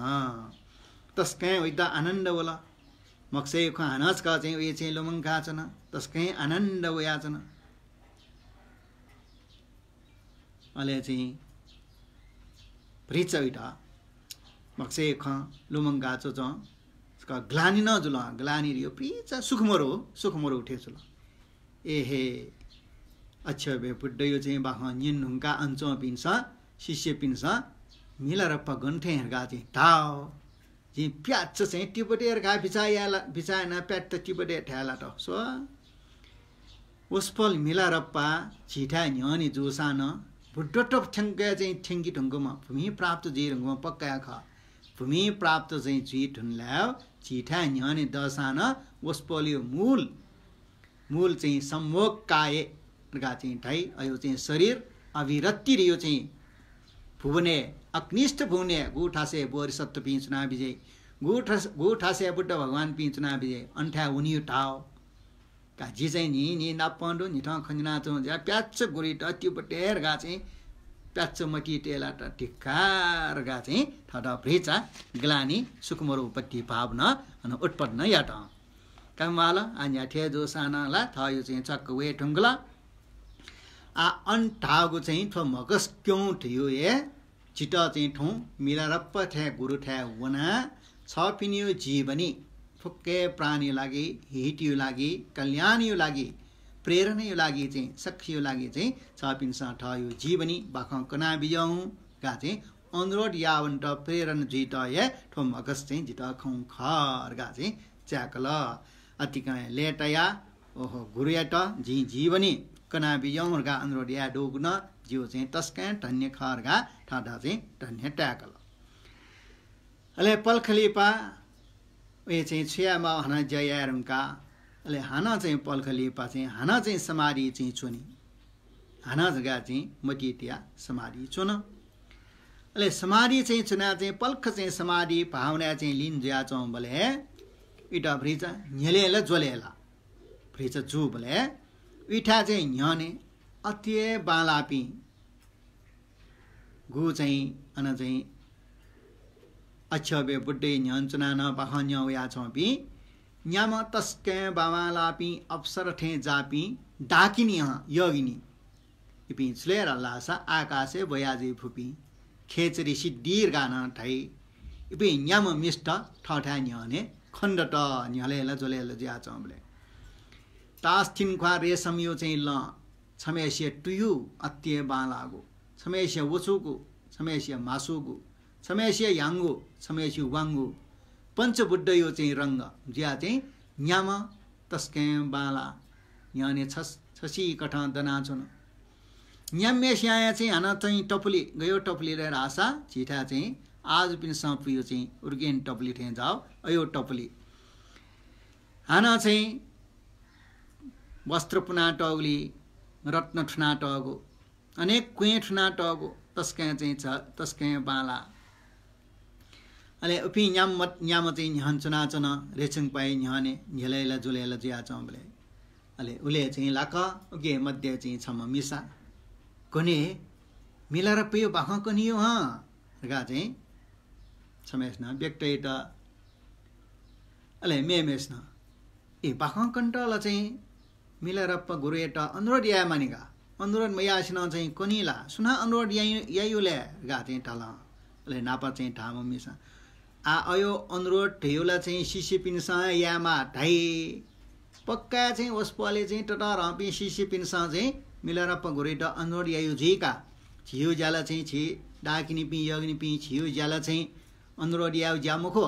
तसकं वइत आनन्द वल। म्हगसय् खँ हानं छकः चाहिँ उइ चाहिँ लुमंकाच्वन। तसकं आनन्द वयाच्वन। अले चाहिँ भतिचा वइत म्हगसय् खँ लुमंका च्वंच्वं छकः ग्लानि नं जुल। ग्लानि धयो भतिचा सुखमरु, सुखमरु थें जुल। एहे, अक्षोभ्य बुद्धयो चाहिँ बाखं न्यने धुंकाः अन च्वंपिन्सं, शिष्यपिन्सं मिलारेपा गन थें धकाः चाहिँ धाः। जिं प्याच्च चाहिँ तिब्बतय् धकाः बिचाः याये ला, बिचाः यानाः प्याच्च तिब्बतय् धाये लात। स्व, वसपोल मिलारेपा झीथाय् न्ह्यःने जूसां नं बुद्धत्व थ्यंके चाहिँ थ्यंके धुंकूम्ह, भूमि प्राप्त जुइ धुंकूम्ह पक्का हे खः। भूमि प्राप्त चाहिँ जुइ धुनलाय् झीथाय् न्ह्यःने दःसां नं वसपोलयो मूल, मूल चाहिँ सम्भोग काय धकाः चाहिँ धाइ। अयो चाहिँ शरीर अविरति धयो चाहिँ भुवनय्, अक्निष्ठ भुवनय् गुगु थासय् बोधिसत्वपिं च्वनाबिज्याइ, गुगु थास-, गुगु थासय् बुद्ध भगवानपिं च्वनाबिज्याइ, अन थाय् वनीगु धाः। का जि चाहिँ न्हि, न्हि नापं दु, न्हिथं खँ न्यनाच्वं जुयाः प्याच्च गुरुइत तिब्बतय् धकाः चाहिँ प्याच्च मतिइ तये लात। धिक्कार धकाः चाहिँ थःत भतिचा ग्लानि, सुखमरु उपत्ति भाव नं अन उत्पन्न यात। का म्वाल, आ न्ह्याथे जूसां नं ला थःयो चाहिँ चक्क वये धुंकल। आ अन धाःगु चाहिँ थ्व म्हगस क्यं धयो हे जितः चाहिँ थौं मिलारेपा थें गुरुथाय् वनाः छपिनियो जीवनी फुक्क हे प्राणीयो लागि, हितयो लागि, कल्याणयो लागि, प्रेरणायो लागि चाहिँ, सख्खीयो लागि चाहिँ छपिन्सं थःयो जीवनी बाखं कनाबिज्याहुँ धकाः चाहिँ अनुरोध यावन्त प्रेरणा जुइत हे थ्व म्हगस चाहिँ जितः खंगु खः धकाः चाहिँ च्याकल। अतिकं लय्ताया ओहो, गुरुयात जिं जीवनी कनाबिज्याहुँ धकाः अनुरोध याये दुगु नं जिगु चाहिँ तसकं धन्य खः धकाः थःत चाहिँ धन्य ताय्‌कल। अले पलख लिपा वय् चाहिँ छु याये माः हानं ज्या याये धुंकाः, अले हानं चाहिँ पलख लिपा चाहिँ हानं चाहिँ समाधि चाहिँ च्वनी। हानं धकाः चाहिँ मतिइ तयाः समाधि च्वन। अले समाधि चाहिँ च्वनाः चाहिँ पलख चाहिँ समाधि भावनाय् चाहिँ लीन जुयाच्वंबलय् इमित भतिचा न्ह्यलय् ला ज्वलय् ला भतिचा जूबलय् इमिथाय् चाहिँ न्ह्यःने अति हे बांलाःपिं गु चाहिँ अन चाहिँ अक्षोभ्य बुद्धया न्ह्यःने च्वनाः नं बाखं न्यं वयाच्वंपिं न्याम्ह तसकं बांबांलाःपिं अप्सरा थें जाःपिं डाकिनी हं योगिनी। इपिं छु लय् धाल धाःसा आकाशय् ब्वया जुइ फुपिं खेचरी सिद्धि धकाः नं धाइ। इपिं न्याम्ह मिस्त थःथाय् न्ह्यःने खनेदत, न्ह्यलय् ला ज्वलय् ला जुयाच्वंबलय्। तास थिंख्वाः रेशमया चाहिँ लं, छम्हय्‌सिया तुयु अति हे बांलाःगु, छम्हय्‌सिया वचुगु, छम्हय्‌सिया म्हासुगु, छम्हय्‌सिया ह्याउँगु, छम्हय्‌सिया वाउँगु, पञ्चबुद्धया चाहिँ रंग जुयाः चाहिँ न्याम्ह तसकं बांलाः न्ह्यःने छस-, छसिकथं दनाच्वन। न्याम्हय्‌सियां चाहिँ हानं चाहिँ टपुली, गय् टपुली लय् धाःसा झीथाय् चाहिँ आजुपिन्सं पुयु चाहिँ उर्गेन टपुली थें जाः, अय् टपुली। हानं चाहिँ वस्त्र पुनातःगुली, रत्न थुनातःगु, अनेक क्वँय् थुनातःगु तसकं चाहिँ झ-, तसकं बांलाः। अले उपिं न्याम्ह, न्याम्ह चाहिँ न्ह्यःने च्वनाच्वन, रेछुङपाया न्ह्यःने न्ह्यलय् ला ज्वलय् ला जुयाच्वंबलय्। अले उलय् चाहिँ लाक्क उकी मध्ये चाहिँ छम्ह मिसा, "गन हे, मिलारेपाया बाखं कनी यु हं?" धकाः चाहिँ छम्हय्‌सिनं व्यक्त यात। अले मेम्हय्‌सिनं, "ए, बाखं कनेत ला चाहिँ मिलारेपा गुरुयात अनुरोध याये मानि का। अनुरोध मयासें नं चाहिँ कनी ला? सुनां अनुरोध याइ-, याइ यु लय्?" धकाः चाहिँ धाल। अले नापं चाहिँ धाःम्ह मिसां, "आ, अय् अनुरोध धयागु ला चाहिँ शिष्यपिन्सं यायेमाः धाइ। पक्का चाहिँ वसपोलय् चाहिँ ततःधंपिं शिष्यपिन्सं चाहिँ मिलारेपा गुरुयात अनुरोध याइ यु जुइ का। झीगु ज्या ला चाहिँ झी डाकिनीपिं, योगिनीपिं, झीगु ज्या ला चाहिँ अनुरोध यायेगु ज्या मखु,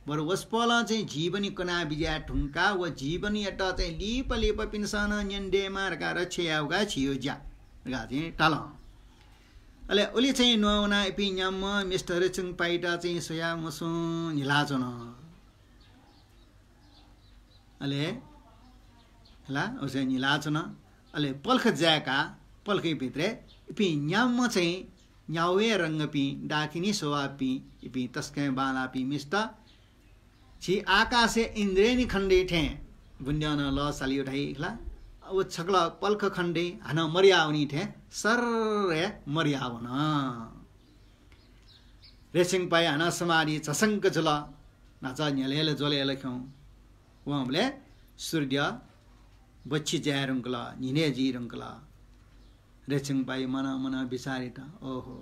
बरु वसपोलं चाहिँ जीवनी कना बिज्याये धुंकाः व जीवनीयात चाहिँ लिपा लिपापिन्सं नं न्यने दयेमाः धकाः रक्षा यायेगु का झीगु ज्या" धकाः चाहिँ धाल। अले उलि चाहिँ नवानाः इपिं न्याम्ह मिस्त रेछुङपायात चाहिँ स्वयाः मसुं न्हिलाच्वन। अले, हला, उसे न्हिलाच्वन। अले पलख जाय्‌काः, पलखया भित्रय् इपिं न्याम्ह चाहिँ न्यावया रंगपिं, डाकिनी स्वभावपिं, इपिं तसकं बांलाःपिं मिस्त, झी आकाशय् इन्द्रायणी खण्डय् थें बुँद्यः नं लः साली यु धाइ खला। व छकलं पलख खण्डय् हानं मदया वनी थें सर्र हे मदया वन। रेछुङपाया हानं समाधि झसंक जुल। न्हाचः न्ह्यलय् ला ज्वलय् ला खिउँवंबलय् सूर्य बच्छि जाये धुंकल, न्हिनय् जुइ धुंकल। रेछुङपाया मनं मनं बिचाः यात, ओहो,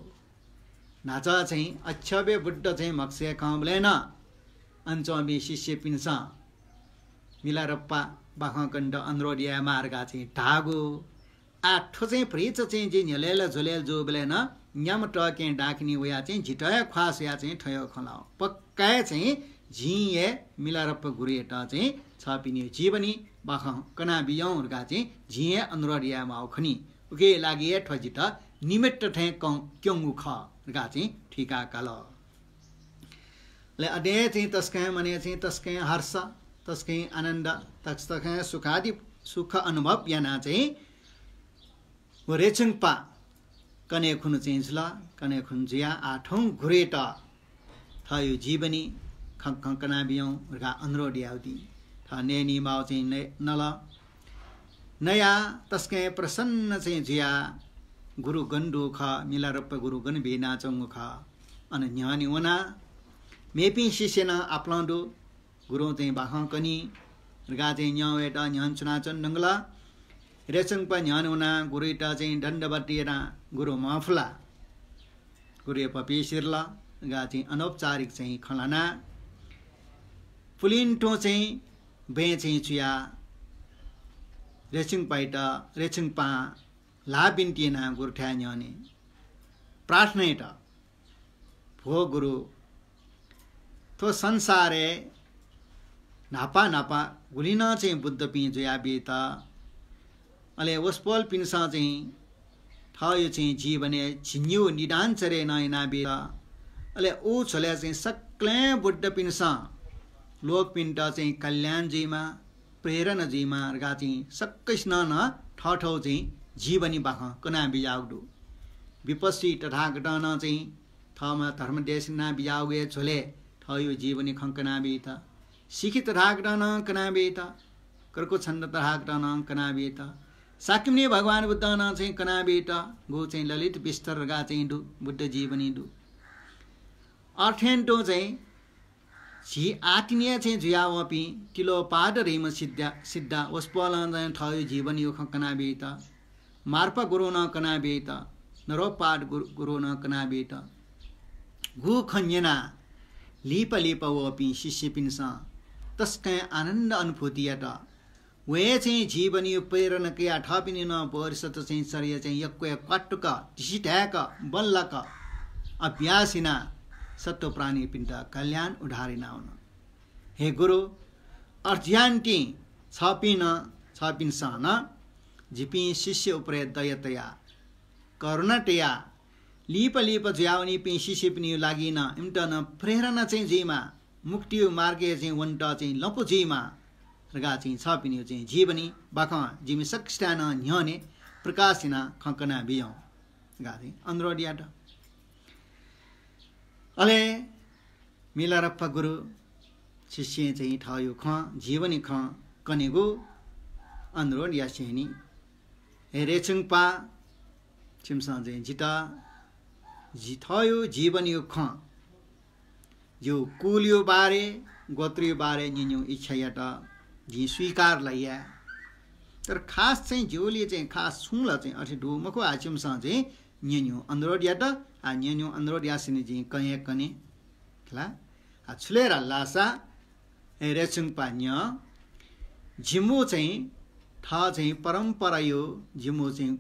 न्हाचः चाहिँ अक्षोभ्य बुद्ध चाहिँ म्हगसय् खंबलय् नं अन च्वंपिं शिष्यपिन्सं मिलारेपा बाखं कनेत अनुरोध यायेमाः धकाः चाहिँ धाःगु। आः थ्व चाहिँ भतिचा चाहिँ जि न्ह्यलय् ला ज्वलय् ला जूबलय् नं न्याम्ह तःकेहेँ डाकिनी वयाः चाहिँ जितः हे ख्वाः स्वयाः चाहिँ थज्याःगु खँ ल्हाः। पक्का हे चाहिँ जिं हे मिलारेपा गुरुयात चाहिँ छःपिनिगु जीवनी बाखं कना बिज्याहुँ धकाः चाहिँ जिं हे अनुरोध यायेमाःगु खनी। उकिया लागि हे थ्व जितः निमित्त थें कं-, क्यंगु खः धकाः चाहिँ थुइका काल। अले अथे हे चाहिँ तसकं मनय् चाहिँ तसकं हर्ष, तसकं आनन्द, तसकं सुखादि, सुख अनुभव यानाः चाहिँ व रेछुङपा कन्हय् खुन्हु चाहिँ जुल। कन्हय् खुन्हु जुयाः आः थौं गुरुयात थःगु जीवनी खँ खँ कना बिज्याहुँ धकाः अनुरोध याःगु दी। थः नयेमाःगु चाहिँ नय-, नल। नयाः तसकं प्रसन्न चाहिँ जुयाः गुरु गन दुगु खः, मिलारेपा गुरु गन बिज्यानाच्वंगु खः। अन न्ह्यःने वनाः मेपिं शिष्य नं आपालं दु। गुरुं चाहिँ बाखं कनी धकाः चाहिँ न्यं वयेत न्ह्यःने च्वनाच्वने धुंकल। रेछुङपा न्ह्यःने वनाः गुरुयात चाहिँ दण्डवत यानाः गुरु महफुला, गुरुया पपी सिरल धकाः चाहिँ अनौपचारिक चाहिँ खँ ल्हानाः पुलिं तुं चाहिँ बँय् चाहिँ चुयाः रेछुङपायात, रेछुङपां ल्हाः बिन्ति यानाः गुरुथाय् न्ह्यःने प्रार्थना यात। भो गुरु, थ्व संसारय् न्हापा न्हापा गुलि नं चाहिँ बुद्धपिं जुयाबीत अले वसपोलपिन्सं चाहिँ थःयो चाहिँ जीवनय् झिंन्यू निदान चर्या नं यानाबीत। अले उ झ्वलय् चाहिँ सकलें बुद्धपिन्सं लोकपिन्त चाहिँ कल्याण जुइमा, प्रेरणा जुइमा धकाः चाहिँ सकसिनं नं थःथःगु चाहिँ जीवनी बाखं कनाबिज्याःगु दु। विपस्वी तथागतं नं चाहिँ थःम्हं धर्म देशना बिज्याःगु हे झ्वलय् थःयो जीवनी खँ कनाबीत। शिखी तथागतं नं कनाबीत। क्रकुच्छन्द तथागतं नं कनाबीत। शाक्यमुनि भगवान बुद्धं नं चाहिँ कनाबीत। गु चाहिँ ललित विस्तर धकाः चाहिँ दु, बुद्ध जीवनी दु। अथें तुं चाहिँ झी आतिनिया चाहिँ जुयावंपिं तिलोपाद धइम्ह सिद्धा, सिद्धा वसपोलं चाहिँ थःयो जीवनीयो खँ कनाबीत। मार्पा गुरुं नं कनाबीत। नरोपाद गुरु, गुरुं नं कनाबीत। गु खँ न्यनाः लिपा लिपा वःपिं शिष्यपिन्सं तसकं आनन्द अनुभूति यात। व हे चाहिँ जीवनीयो प्रेरणा कयाः थःपिनि नं बोधिसत्व चाहिँ चर्या चाहिँ यक्व हे क्वातुक, धिसिधाय्क, बल्लाक अभ्यास यानाः सत्त्वप्राणीपिन्त कल्याण उद्धार यानावन। हे गुरु, अथे यानाः तिनि छपिं नं, छपिन्सं नं जिपिं शिष्य उपरे दया तयाः, करुणा तयाः, लिपा लिपा जुयावनीपिं शिष्यपिनियो लागि नं इमित नं प्रेरणा चाहिँ जुइमा, मुक्तियो मार्गय् चाहिँ वनेत चाहिँ लँपु जुइमा धकाः चाहिँ छपिनियो चाहिँ जीवनी बाखं जिमि सकसितं नं न्ह्यःने प्रकाश यानाः खँ कनाबिज्याहुँ धकाः चाहिँ अनुरोध यात। अले मिलारेपा गुरु शिष्यं चाहिँ थःयो खँ, जीवनी खँ कनेगु अनुरोध यासेंनि, हे रेछुंगपाः, छिमिसं चाहिँ जितः जि थःयो जीवनीयो खँ, जिगु कुलयो बारे, गोत्रयो बारे न्यनेगु इच्छा यात, जिं स्वीकार ला याये। तर खास चाहिँ जिगुलिइ चाहिँ खास छुं ला चाहिँ अथे दु मखु, आः छिमिसं चाहिँ न्यनेगु अनुरोध यात, आः न्यनेगु अनुरोध यासेंनि जिं कने हे कने। खला? आः छु ले धाःसा, हे रेछुंगपाः न्यँ, जिमिगु चाहिँ थः चाहिँ परम्परायो, जिमिगु चाहिँ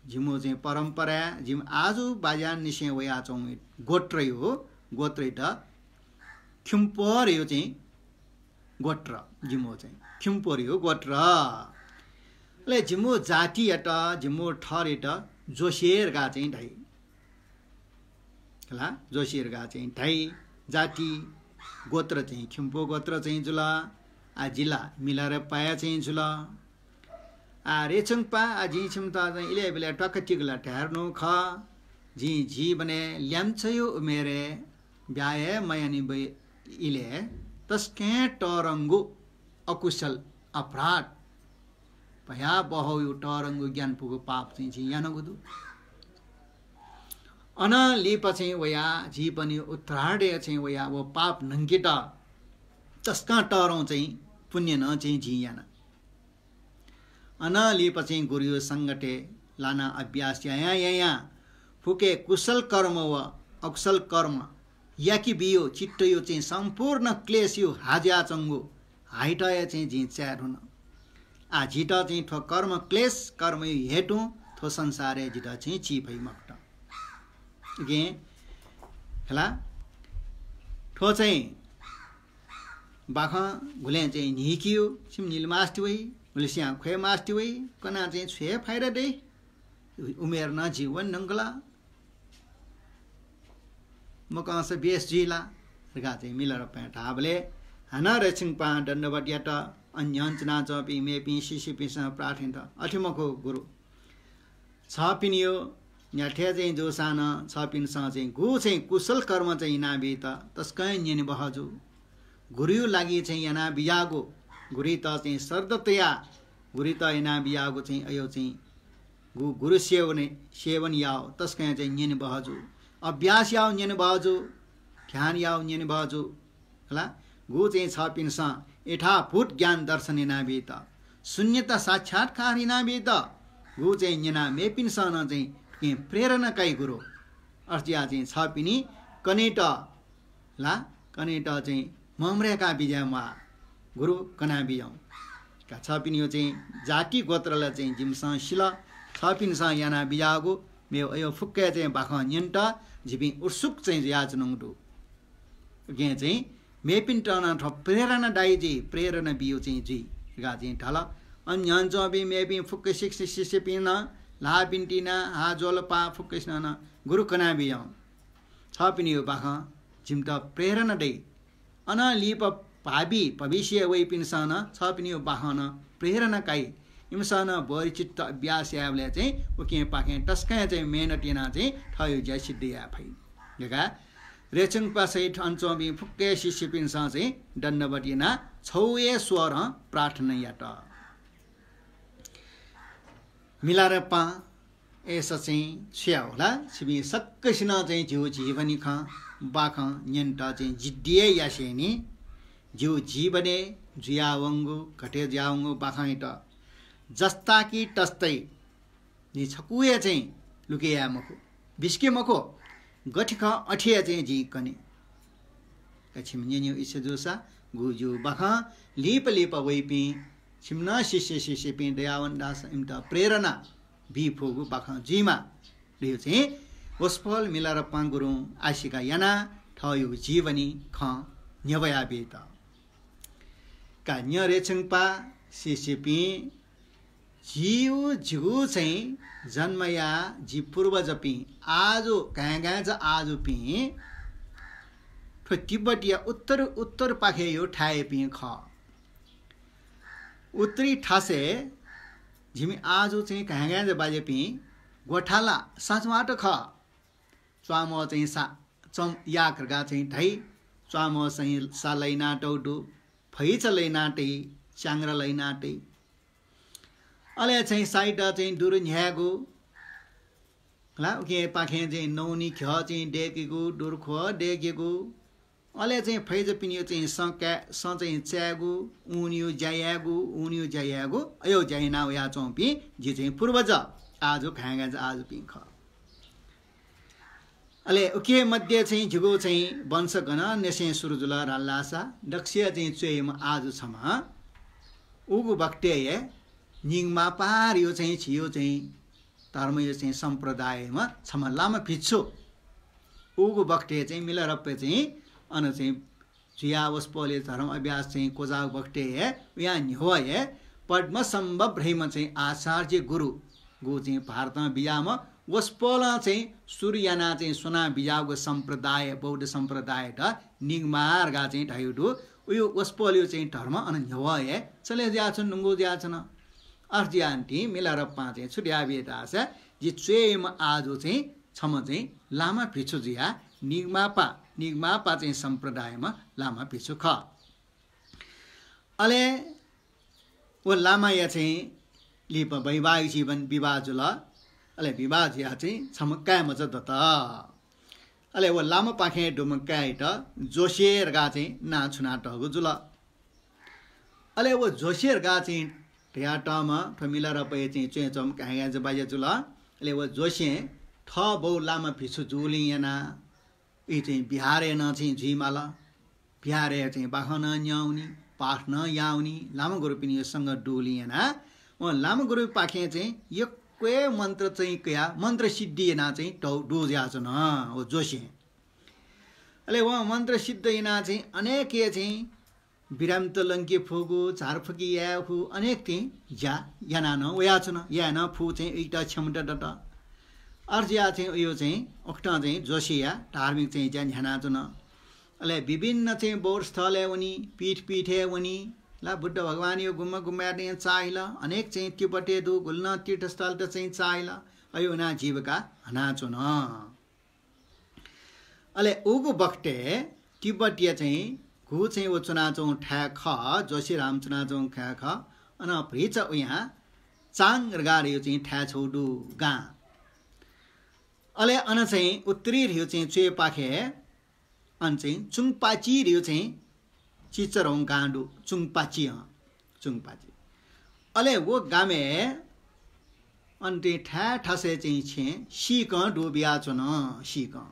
जिमिगु चाहिँ परम्पराय् जिमि आजु बाज्यानिसें वयाच्वंगु गोत्रयो, गोत्रयात खिम्पोरयो चाहिँ गोत्र, जिमिगु चाहिँ खिम्पोरयो गोत्र। अले जिमिगु जातियात, जिमिगु थरयात जोशी धकाः चाहिँ धाइ। खला, जोशी धकाः चाहिँ धाइ। जाति, गोत्र चाहिँ खिम्पो गोत्र चाहिँ जुल। आः जि ला मिलारेपाया चाहिँ जुल। आः रेछुंगपाः, आः जिं छिमित चाहिँ इलय् ब्यलय् त्वाकातिक ला धायेधुन खः। जिं जीवनय् ल्याय्म्हयो उमेरय् ब्याहा हे मयानाबी इलय् तसकं तःधंगु अकुशल अपराध, भयावहयो तःधंगु ग्यानापुगु पाप चाहिँ जिं यानागु दु। अनं लिपा चाहिँ वयाः जीवनयो उत्तरार्धय् चाहिँ वयाः व पाप न्हंकेत तसकं तःधं चाहिँ पुण्य नं चाहिँ जिं याना। अनं लिपा चाहिँ गुरुयो संगतय् लानाः अभ्यास यायां यायां फुक्क हे कुशल कर्म व अकुशल कर्म याके बियो चित्तयो चाहिँ सम्पूर्ण क्लेशयो हा जुयाच्वंगु हाइटया चाहिँ जिं चाये धुन। आः जितः चाहिँ थ्व कर्म क्लेश कर्मयो हेतुं थ्व संसारय् जितः चाहिँ ची फइ मखुत। उकिं खला, थ्व चाहिँ बाखं गुलें चाहिँ न्हिकियो, छिमि निले मास्ति वइ, गुलेस्यां ख्वये मास्ति वइ, कनाः चाहिँ छु हे फाइदा दइ? उमेर नं झी वने धुंकल। मकंसा बेस जुइ ला धकाः चाहिँ मिलारेपां धाःबलय् हानं रेछुंगपां दण्डवत यात। अन न्ह्यःने च्वनाच्वंपिं मेपिं शिष्यपिन्सं प्रार्थना यात, अथे मखु गुरु, छपिनियो न्ह्याथे चाहिँ जूसां नं छपिन्सं चाहिँ गु चाहिँ कुशल कर्म चाहिँ यानाबीत तसकं न्यने बहःजू। गुरुयो लागि चाहिँ यानाबिज्याःगु, गुरुइत चाहिँ श्रद्धा तयाः गुरुइत यानाबिज्याःगु चाहिँ अयो चाहिँ गु गुरु सेवन, सेवन याः तसकं चाहिँ न्यने बहःजू। अभ्यास याः न्यने बहःजू, ध्यान याः न्यने बहःजू। खला, गु चाहिँ छपिन्सं यथाभूत ज्ञान दर्शन यानाबीत, शून्यता साक्षात्कार यानाबीत, गु चाहिँ न्यनाः मेपिन्सं नं चाहिँ थुकिं प्रेरणा काइ गुरु। अथे जुयाः चाहिँ छपिनि कनेत ला, कनेत चाहिँ ममय्का बिज्याये म्वाः, गुरु कना बिज्याहुँ। का छपिनियो चाहिँ जाति गोत्र ला चाहिँ जिमिसं सिल, छपिन्सं यानाबिज्याःगु मेव अयो फुक्क हे चाहिँ बाखं न्यनेत जिपिं उत्सुक चाहिँ जुयाच्वनागु दु। उकिं चाहिँ मेपिन्त नं थ्व प्रेरणा दाइ जुइ, प्रेरणा बियो चाहिँ जुइ धकाः चाहिँ धाल। अन न्ह्यःने च्वंपिं मेपिं फुक्कसिक शिष्यपिं नं ल्हाः बिन्ति यानाः हाः ज्वःलापाः फुक्कसिनं नं गुरु कनाबियं थःपिनिगु बाखं जिमित प्रेरणा दइ। अनं लिपा भावी भविष्यय् वइपिन्सं नं थःपिनिगु बाखं नं प्रेरणा काइ। इमिसं नं बोधिचित्त अभ्यास यायेबलय् चाहिँ उकिं पाखें तसकं चाहिँ मेहनत यानाः चाहिँ थःगु ज्या सिद्ध याये फइ धकाः रेछुंगपा सहित अन च्वंपिं फुक्क हे शिष्यपिन्सं चाहिँ दण्डवत यानाः छगू हे स्वरं प्रार्थना यात। मिलारेपां अय्‌सा चाहिँ छु याये होला, छिपिं सकसिनं चाहिँ जिगु जीवनी खँ, बाखं न्यनेत चाहिँ जिद्दी हे यासेंनि। जिगु जीवनय् जुयावंगु, घटे जुयावंगु बाखंयात जस्ता कि तस्तै नि छकू हे चाहिँ लुके याये मखु, बिस्के मखु, गथे खः अथे हे चाहिँ जिं कने। का छिमि न्यनेगु इच्छा जूसा, गु जिगु बाखं लिपा लिपा वइपिं छिमि नं शिष्य शिष्यपिं दयावन धाःसा इमित प्रेरणा बी फुगु बाखं जुइमा धइगु चाहिँ वसपोल मिलारेपां गुरुं आशिका यानाः थःगु जीवनी खँ न्ह्यब्वया बीत। का न्यँ रेछुंगपा शिष्यपिं, जिगु, जिगु चाहिँ जन्मया जि पूर्वजपिं, आजु घाँय्‌घाँय्‌चा आजुपिं थ्व तिब्बतया उत्तर, उत्तरपाखेया थाय्‌यापिं खः। उत्तरी थासय् जिमि आजु चाहिँ घाँय्‌घाँय्‌चा बाज्यापिं ग्वथाला साँचवात खः। च्वामः चाहिँ सा, चम याक धकाः चाहिँ धाइ। च्वामः चाहिँ सा लइनातःगु दु, फैचा लइनातइ, च्याङ्ग्रा लइनातइ। अले चाहिँ साइत चाहिँ दुरु न्ह्यायेगु, ला, उकिं पाखें चाहिँ नौनी घ्यः चाहिँ दय्‌केगु, दुरुख्वः दय्‌केगु, अले चाहिँ फैजापिनिगु चाहिँ सँ काये, सँ चाहिँ चायेगु, ऊनिगु ज्या यायेगु, ऊनिगु ज्या यायेगु, अय् ज्या याना वयाच्वंपिं जि चाहिँ पूर्वज, आजु घाँय्‌घाँय्‌चा आजुपिं खः। अले उकी मध्ये चाहिँ जिगु चाहिँ वंश गन निसें सुरु जुल धाःसा दक्वसिया चाहिँ च्वय्‌म्ह आजु छम्ह। उगु बखतय् हे निगमापार धइगु चाहिँ झीगु चाहिँ धर्मया चाहिँ सम्प्रदायम्ह छम्ह लामा भिक्षु। उगु बखतय् चाहिँ मिलारेपां चाहिँ अन चाहिँ जुयाः वसपोलया धर्म अभ्यास चाहिँ क्वचाःगु बखतय् हे उयां न्ह्यवः हे पद्मसम्भव धइम्ह चाहिँ आचार्य गुरुगु चाहिँ भारतं बिज्याःम्ह वसपोलं चाहिँ सुरु यानाः चाहिँ स्वना बिज्याःगु सम्प्रदाय, बौद्ध सम्प्रदाययात निगमा धकाः चाहिँ धाइगु दु। उगु वसपोलया चाहिँ धर्म अन न्ह्यवः हे चले जुयाच्वन, न्वंगु जुयाच्वन। अथे जुयाः निंतिं मिलारेपां चाहिँ छु धयाबिल धाःसा, जि च्वय्‌म्ह आजु चाहिँ छम्ह चाहिँ लामा भिक्षु जुयाः निगमापा, निगमापा चाहिँ सम्प्रदायम्ह लामा भिक्षु खः। अले व लामाया चाहिँ लिपा वैवाहिक जीवन विवाह जुल। अले विवाह जुयाः चाहिँ छम्ह काय्‌मचा दत। अले व लामापाखें दुम्ह काय्‌यात जोसे धकाः चाहिँ नां छुनातःगु जुल। अले व जोसे धकाः चाहिँ धयातःम्ह थ्व मिलारेपाया चाहिँ च्वय् च्वंम्ह घाँय्‌घाँय्‌चा बाज्या जुल। अले व जोसें थः बौ लामा भिक्षु जूगुलिं यानाः ई चाहिँ विहारय् नं चाहिँ जुइमाल। विहारय् चाहिँ बाखं नं न्यंवनी, पाठ नं याःवनी, लामा गुरुपिनिगु संगत दुगुलिं यानाः वं लामा गुरुपाखें चाहिँ यक्व हे मन्त्र चाहिँ कयाः मन्त्र सिद्धि यानाः चाहिँ तःगु दु जुयाच्वन व जोसें। अले वं मन्त्र सिद्ध यानाः चाहिँ अनेक हे चाहिँ बिरामित लंके फुगु, झारफुकी याये फुगु, अनेक चाहिँ ज्या यानाः नं वयाच्वन। याये नं फुगु चाहिँ उइत क्षमता दत। अथे जुयाः चाहिँ उयो चाहिँ उकथं चाहिँ जोसेया धार्मिक चाहिँ ज्या न्ह्यानाच्वन। अले विभिन्न चाहिँ बौद्ध स्थलय् वनी, पीठ पीठय् वनी, ला बुद्ध भगवानया गुम्ह गुम्हयात चाहिँ चाःहिल, अनेक चाहिँ तिब्बतय् दुगु गुलि नं तीर्थस्थलत चाहिँ चाःहिल। अथे वनाः जीविका हनाच्वन। अले उगु बखतय् तिब्बतया चाहिँ गु चाहिँ व च्वनाच्वंगु थाय् खः, जोसेराम च्वनाच्वंगु थाय् खः, अन भतिचा उयां चाङ धकाः धइगु चाहिँ थाय् छगू दु गां। अले अन चाहिँ उत्तरी धइगु चाहिँ च्वय्‌पाखे अन चाहिँ चुङपाची धइगु चाहिँ चिचरौं गां दु, चुङपाची, अँ, चुङपाची। अले व गामय् अन चाहिँ थाय् थासय् चाहिँ छेँ सीकं दु बियाच्वन, सीकं।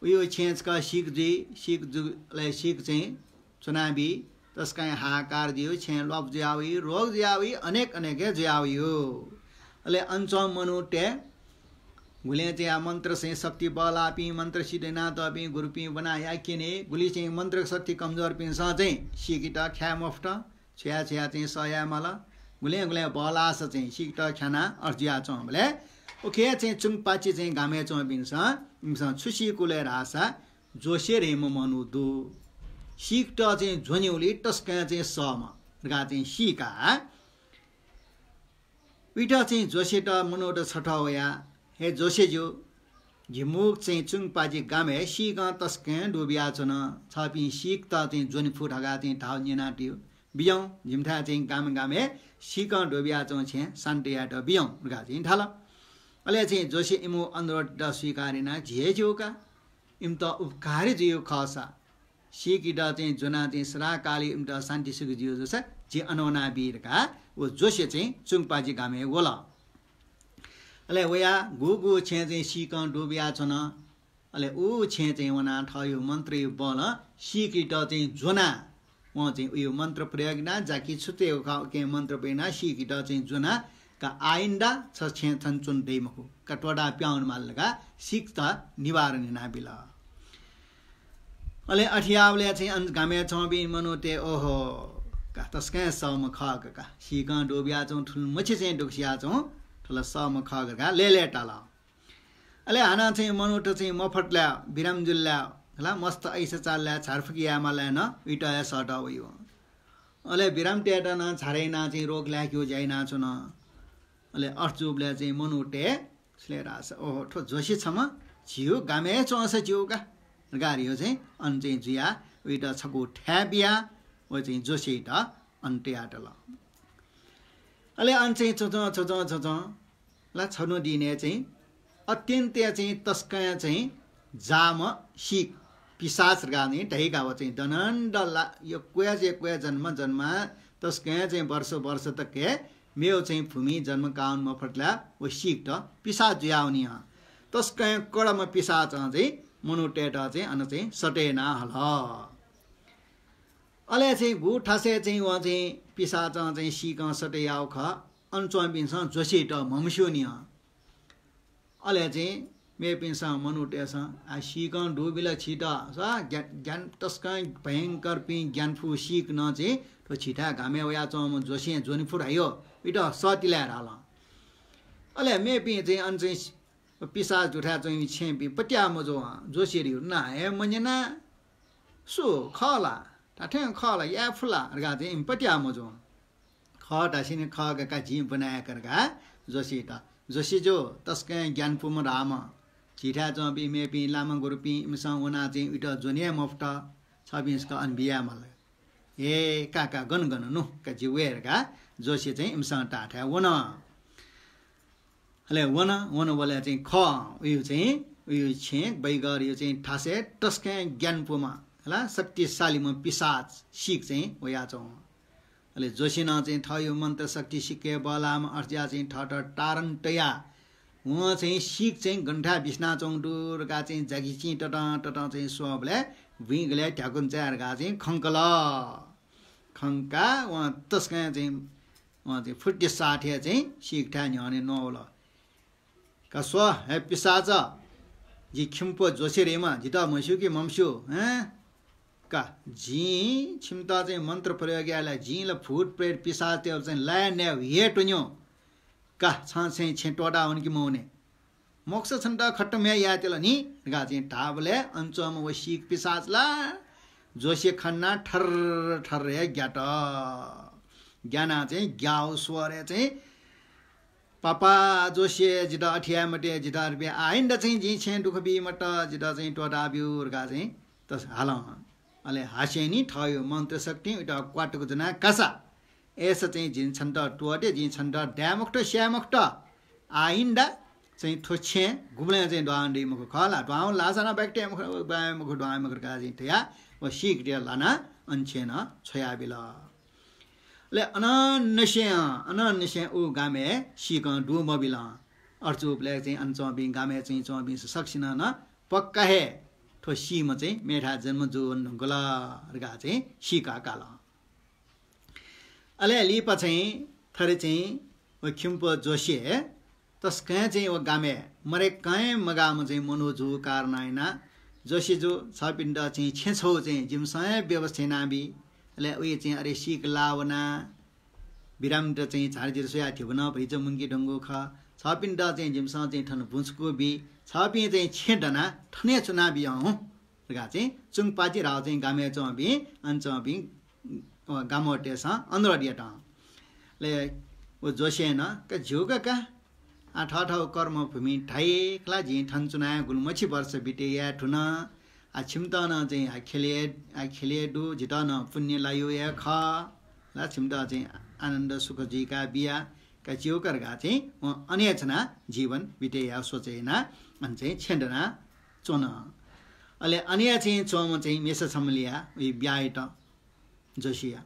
उयो छेँ छकः सीक जुइ, सीक जु-, अले सीक चाहिँ च्वनाबी, तसकं हाहाकार जुइ, छेँ ल्वापु जुयावइ, रोग जुयावइ, अनेक अनेक हे जुयावइ। अले अन च्वंम्ह मनूतय् गुलिं चाहिँ मन्त्र चाहिँ शक्ति बल्लाःपिं, मन्त्र सिद्ध यानातःपिं गुरुपिं ब्वनाः याक्यनी, गुलि चाहिँ मन्त्र शक्ति कमजोरपिन्सं चाहिँ सीकेत खाये मफुत, छु याये छु याये चाहिँ सह याये माल। गुलें गुलें बहलाःसा चाहिँ सीकेत ख्यानाः अथे जुयाच्वंबलय् उखे चाहिँ चुंगपाचि चाहिँ गामय् च्वंपिन्सं इमिसं छु सीकुल धाःसा जोसे धइम्ह मनू दु। सीकेत चाहिँ ज्वनीगुलिं तसकं चाहिँ सःम्ह धकाः चाहिँ सीकाः उइत चाहिँ जोसेत मनूत छथः वयाः, हे जोसेज्यू, झिमुक चाहिँ चुंगपाचि गामय् सीकं तसकं दुबियाच्वन। छपिं सीकेत चाहिँ ज्वने फु धकाः चाहिँ धाःगु न्यनातयु। बिज्याहुँ, जिमिथाय् चाहिँ गामय् गामय् सीकं दुबियाच्वंगु छेँ शान्ति यायेत बिज्याहुँ धकाः चाहिँ धाल। अले चाहिँ जोसे इमिगु अनुरोधत स्वीकार यानाः झी हे ज्यू का। इमित उपकारी जुइगु खःसा, सीकेत चाहिँ ज्वनाः चाहिँ सदाकाल इमित शान्ति सुख जुइगु जूसा झी अन वनाबी धकाः व जोसे चाहिँ चुंगपाचि गामय् वल। अले वयाः गुगु छेँ चाहिँ सीकं दुबियाच्वन। अले उ छेँ चाहिँ वनाः थःगु मन्त्रया बलं सीकेत चाहिँ ज्वनाः वं चाहिँ उगु मन्त्र प्रयोग यानाः जाकि छु तयेगु खः उकिं मन्त्र प्रयोग यानाः सीकेत चाहिँ ज्वनाः का आइन्दा छ छेँ थन च्वने दइ मखु का त्वःताः पिहां वनेमाल धकाः सीकेत निवारण यानाबिल। अले अथे याःबलय् चाहिँ अन गामय् च्वंपिं मनूतय् ओहो का तसकं सःम्ह खः का, का सीकं दुबियाच्वंगु थुलि मछि चाहिँ दुःख सियाच्वंगु थुलि सःम्ह खः का धकाः लय्‌लय्‌ताल। अले हानं चाहिँ मनूत चाहिँ मफतलाय् बिराम जुललाय् हला मस्त ऐसा चाललाय् झारफुक यायेमालय् नं उइत हे सःतः वइ। अले बिराम तयेत नं झारे यानाः चाहिँ रोग लायेकेगु ज्या यानाच्वन। अले अथे जूबलय् चाहिँ मनूतय् छुले धाःसा ओहो थ्व जोसे छम्ह झीगु गामय् हे च्वंसा ज्यू का धकाः धइगु चाहिँ अन चाहिँ जुयाः उइत छकू थाय् बियाः व चाहिँ जोसेइत अन तयातल। अले अन चाहिँ च्वंच्वं च्वंच्वं च्वंच्वं ला छन्हु दिनय् चाहिँ अत्यन्त चाहिँ तसकं चाहिँ जाःम्ह सीक पिशाच धकाः चाहिँ धइका व चाहिँ दनन्द ला यक्व यक्व जन्म जन्म तसकं चाहिँ वर्ष वर्ष तक हे मेव चाहिँ भूमि जन्म काः वने मफतलाय् व सीकेत पिशाच जुयावनी हं। तसकं कडम्ह पिशाचं चाहिँ मनूतय्‌त चाहिँ अन चाहिँ सटे याना हल। अले चाहिँ गु थासय् चाहिँ वं चाहिँ पिशाचं चाहिँ सीकं सटे याःगु खः, अन च्वंपिन्सं जोसेत म्हमस्यूनि हं। अले चाहिँ मेपिन्सं मनूतय्‌सं आ सीकं दुबिल छित, स ज्ञा-, ज्ञान तसकं भयंकरपिं ज्ञानफु सीक नं चाहिँ थ्व छिथाय् गामय् वयाच्वंम्ह जोसें ज्वने फु धाइ हो, इत सःतिलाय् धाल। अले मेपिं चाहिँ अन चाहिँ पिशाच दुथाय् च्वंपिं छेँपिं पत्याः मजू हं, जोसेत धइगु नां हे मन्यना। सु खः ला? धात्थें खः ला? याये फु ला? धकाः चाहिँ इमि पत्याः मजू हं। खः धासेंलि खः का, का जिं ब्वनायेका धकाः जोसेत। जोसेज्यू तसकं ज्ञानपुम्ह धाःम्ह। झीथाय् च्वंपिं मेपिं लामा गुरुपिं इमिसं वनाः चाहिँ उइत ज्वने हे मफुत। छपिंसं अन बियायेमाल। ए का का गन गन नु का जि वये धकाः जोसे चाहिँ इमिसं धाःथाय् वन। अले वन, वनबलय् चाहिँ खः, उयु चाहिँ, उयु छेँ बैगरयु चाहिँ थासय् तसकं ज्ञानपुम्ह, हला, शक्तिशालीम्ह पिशाच सीक चाहिँ वयाच्वं। अले जोसेनं चाहिँ थःयु मन्त्र शक्ति सिक्क बहलाःम्ह अथे जुयाः चाहिँ थःत तारण तयाः वं चाहिँ सीक चाहिँ गन थाय् बिस्नाच्वंगु दु धकाः चाहिँ जागिचिं ततं ततं चाहिँ स्वःबलय् बुँइ गलय् ध्याकुन्चाय् धकाः चाहिँ खंकल। खंकाः वं तसकं चाहिँ वं चाहिँ फुर्ति साथय् चाहिँ सीकथाय् न्ह्यःने नवल। का स्व, हे पिशाच, जि खिम्प जोसे धइम्ह, जितः म्हस्यू कि मम्हस्यू, हँ? का, जिं छिमित चाहिँ मन्त्र प्रयोग याये ला, जिं ला भूत प्रेत पिशाचतय्‌त चाहिँ लाये नये हे त्वन्यु। का, छं चाहिँ छेँ त्वःता वने कि मवने? मोक्ष छन्त खतम हे यायेत्यल नि धकाः चाहिँ धाःबलय् अन च्वंम्ह व सीक पिशाच ला जोसे खनाः ठर्र ठर्र हे ग्यात। ग्यानाः चाहिँ ग्याउ स्वरय् चाहिँ पापा जोसे, जितः अथे याये मते, जितः रुपियाँ आइन्दा चाहिँ जिं छेँ दुःख बी मत, जितः चाहिँ त्वःता ब्यु धकाः चाहिँ तस हालं। अले हासेंनि थःयु मन्त्र शक्तिं उइत क्वातुक ज्वनाः कासा। अय्‌सा चाहिँ जिं छन्त त्वःते, जिं छन्त दाये मखुत, स्याये मखुत। आइन्दा चाहिँ थ्व छेँ गुबलें चाहिँ दुहां दइ मखु खः ला, दुहां लाःसा नं बाकि तये मखु, बाये मखु, दुहां मखु धकाः चाहिँ धयाः व सीकतय् लानाः अन छेँ नं छ्वयाबिल। अले अनंनिसें, अनंनिसें उ गामय् सीकं दु मबिल। अथे जूबलय् चाहिँ अन च्वंपिं गामय् चाहिँ च्वंपिं सकसिनं नं पक्का हे थ्व सीम्ह चाहिँ मेथाय् जन्म जूवने धुंकल धकाः चाहिँ सीकाः काल। अले लिपा चाहिँ थथे चाहिँ व खिम्प जोसे तसकं चाहिँ व गामय् मरय्‌कं मगाःम्ह चाहिँ मनू जूगु कारणं यानाः जोसेजु छपिन्त चाहिँ छेँ छौ चाहिँ जिमिसं हे व्यवस्था यानाबी। अले उइ चाहिँ अरे सीक लाः वनाः बिरामीत चाहिँ झारझिर स्वयाः धिबा नं भतिचा मुंके धुंगु खः। छःपिन्त चाहिँ जिमिसं चाहिँ थन बुँचुकू बी, छःपिं चाहिँ छेँ दनाः थन हे च्वनाबिया हुँ धकाः चाहिँ चुंगपाचि धाःगु चाहिँ गामय् च्वंपिं, अन च्वंपिं, अ, गामतय्‌सं अनुरोध यात। अले व जोसें नं, का ज्यू का का, आ, थःथःगु कर्मभूमि धाइ खला, जिं थन च्वनाः गुलिमछि वर्ष बिते याये धुन। आ, छिमित नं चाहिँ आ ख्यलय्, आ ख्यलय् दु, जितः नं पुण्य लायु हे खः। ला छिमित चाहिँ आनन्द सुख जुइका बिया, का ज्यू का धकाः चाहिँ वं अन हे च्वनाः जीवन बिते याये सोचे यानाः अन चाहिँ छेँ दनाः च्वन। अले अन हे चाहिँ च्वंम्ह चाहिँ मेसा छम्ह लिया, उइ ब्याहा यात जोसेया।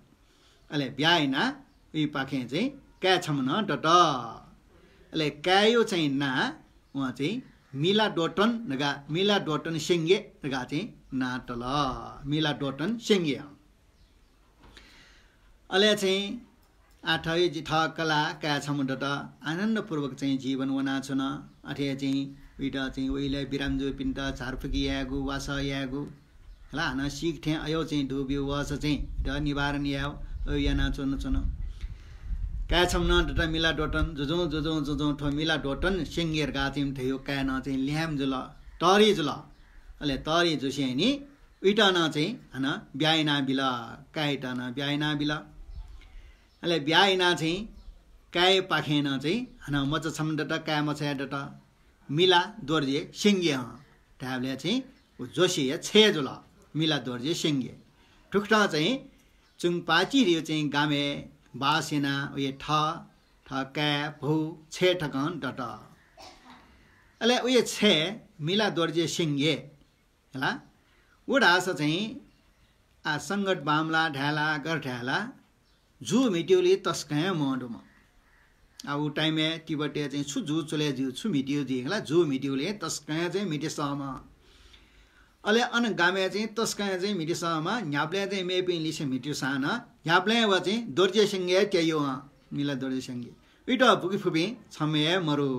अले ब्याहा यानाः उइपाखें चाहिँ काय् छम्ह नं दत। अले काय्‌या चाहिँ नां वं चाहिँ मिलादोतन धकाः, मिलादोतन सेंगे धकाः चाहिँ नां तल। मिलादोतन सेंगे। अले चाहिँ आः थः जि थः कलाः काय् छम्ह दत, आनन्दपूर्वक चाहिँ जीवन वनाच्वन। अथे चाहिँ उइत चाहिँ उइलय् बिरामीजूपिन्त झारफुकी यायेगु, वासः यायेगु, हला, हानं सीक थें अय्‌यागु चाहिँ दुब्यू वःसा चाहिँ उइत निवारण यायेगु, अय्‌यागु यानाच्वन च्वन। काय् छम्ह नं दत मिलादोतन, जुजुं जुजुं जुजुं थ्व मिलादोतन सेंगे धकाः चाहिँ धयागु काय् नं चाहिँ ल्याय्म्ह जुल, तःधि जुल। अले तःधि जुसेंलि उइत नं चाहिँ हानं ब्याहा यानाबिल, काय्‌यात नं ब्याहा यानाबिल। अले ब्याहा यानाः चाहिँ काय्‌पाखें नं चाहिँ हानं मचा छम्ह दत, काय्‌मचा हे दत, मिलादोर्जे सेंगे हं धायेबलय् चाहिँ व जोसेया छय् जुल, मिलादोर्जे सेंगे। थुकथं चाहिँ चुंगपाचि धयागु चाहिँ गामय् बास यानाः वया थः, थः काय्, भौ, छय् तकं दत। अले वया छय् मिलादोर्जे सेंगे हला। व धाःसा चाहिँ आ संगत बांमलाः धाये ला, गथे धाये ला, जू म्हितीगुली तसकं हे मदुम्ह। आ उ time-य् तिब्बतय् चाहिँ छु जू चले जुइ, छु म्हितीगु जुइ हला, जू म्हितीगुली तसकं हे चाहिँ म्हितेसःम्ह। अले अन गामय् चाहिँ तसकं हे चाहिँ म्हितेसःम्ह, न्ह्याबलें चाहिँ मेपिं लिसे म्हितेसां नं न्ह्याबलें व चाहिँ दोर्जे सेंगे त्याइयो, मिलादोर्जे सेंगे। उइत बुके फुपिं छम्ह हे मरु।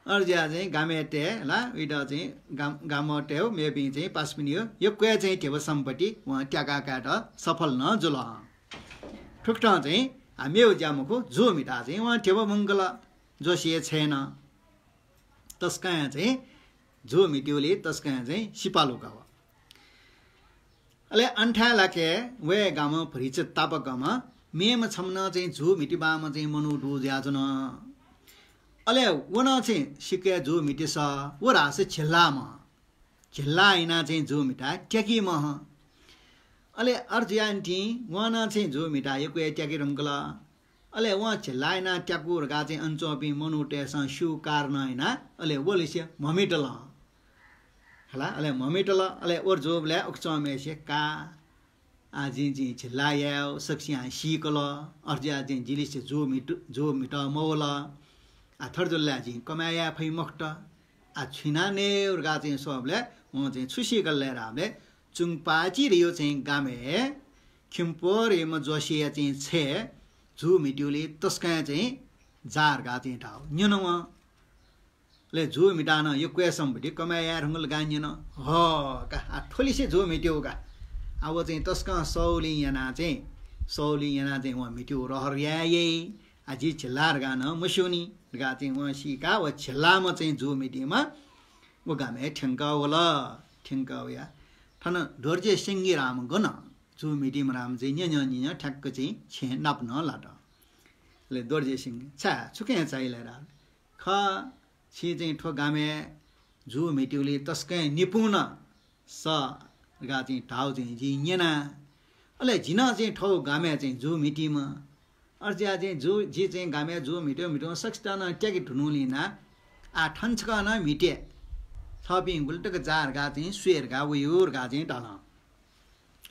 अय्‌जुयाः चाहिँ गामय् तये ला, उइत चाहिँ गाम, गामतय् मेपिं चाहिँ पासापिनिगु यक्व हे चाहिँ धिबा सम्पत्ति वं त्याका कायेत सफल नं जुल। थुकथं चाहिँ आ मेगु ज्या मखु, जू म्हिताः चाहिँ वं धिबा मुंकल। जोसेया छय् नं तसकं हे चाहिँ जू म्हितीगुली तसकं हे चाहिँ सिपालु का व। अले अन थाय् लाके वये गामं भतिचा तापाकम्ह मेम्ह छम्ह नं चाहिँ जू म्हितेमाःम्ह चाहिँ मनू दु जुयाच्वन। अले व नं चाहिँ सिक्क हे जू म्हितेसः, व धाःसा झिल्लाःम्ह। झिल्लाः यानाः चाहिँ जू म्हिताः त्याकीम्ह। अले अथे जुयानिंतिं वं नं चाहिँ जू म्हिताः यक्व हे त्याके धुंकल। अले वं झिल्लाः यानाः त्याकू धकाः चाहिँ अन च्वंपिं मनूतय्‌सं स्यू कारणं यानाः अले व लिसे म्हमितल। हला, अले म्हमितल, अले व जूबलय् उके च्वंम्हय्‌सित का, आ, जिं, जिं झिल्लाः याये सकसियां सीकल, अथे जुयाः जिं जि लिसे जू म्हित, जू म्हितः मवल। आ, थथे जुल ला जिं कमाय् याये फइ मखुत। आ, छु यानाः नये धकाः चाहिँ स्वःबलय् वं चाहिँ छु सीकल धाःबलय् चुंगपाचि धयागु चाहिँ गामय् खिम्पोर धयाम्ह जोसेया चाहिँ छय् जू म्हितीगुली तसकं हे चाहिँ जाः धकाः चाहिँ धाःगु न्यन वं। अले जू म्हिताः नं यक्व हे सम्पत्ति कमाय् याये धुंकल धकाः न्यन। ह, का, आ, थ्व लिसे जू म्हितेगु का। आ, व चाहिँ तसकं सःगुलिं यानाः चाहिँ, सःगुलिं यानाः चाहिँ वं म्हितेगु रहर याये याइ। आ, जि झिल्लाः धकाः नं मस्यूनि धकाः चाहिँ वं सीकाः व झिल्लाःम्ह चाहिँ जू म्हितीम्ह व गामय् थ्यंकः वल। थ्यंकः वयाः थन दोर्जे सेंगे धाःम्ह गन, जू म्हितीम्ह धाःम्ह चाहिँ न्यँ न्यँ न्यँ न्यँ थ्याक्क चाहिँ छेँ नाप नं लात। अले दोर्जे सेंगे, छाय्, छु खँ चाइ ला धाःबलय्, खः, छि चाहिँ थ्व गामय् जू म्हितीगुली तसकं निपुण सः धकाः चाहिँ धाःगु चाहिँ जिं न्यना। अले जि नं चाहिँ थ्व गामय् चाहिँ जू म्हितीम्ह। अथे जुयाः चाहिँ जू, जि चाहिँ गामय् जू म्हितेगु म्हितेगु सकसित नं त्याके धुनूलिं ना। आः थन छकः नं म्हिते। छःपिं गुलि तक जाः धकाः चाहिँ स्वये धकाः वयु धकाः चाहिँ धाल।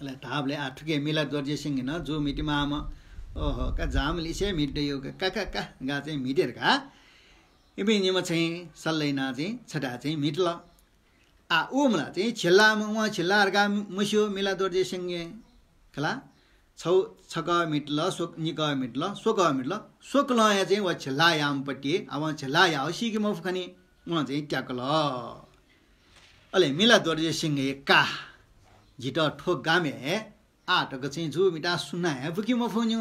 अले धाःबलय् आः थुके मिलादोर्जे सेंगे नं जू म्हितेमाःम्ह, ओहो, का जाःम्ह लिसे म्हिते दयु का, का, का, का धकाः चाहिँ म्हिते धकाः इपिं निम्ह चाहिँ सल्लाह यानाः चाहिँ छथाय् चाहिँ म्हितल। आः उ मला चाहिँ झिल्लाःम्ह, वं झिल्लाः धकाः मस्यू मिलादोर्जे सेंगे। खला, छौ, छकः म्हितल, स्व-, निकः म्हितल, स्वकः म्हितल, स्वकलं हे चाहिँ व झिल्लाः याःम्ह पति, आः वं झिल्लाः याःगु सीके मफु खनी, वं चाहिँ त्याकल। अले मिलादोर्जे सेंगे का, जितः थ्व गामय् आः तक चाहिँ जू म्हिताः सुनां हे बुके मफुनि।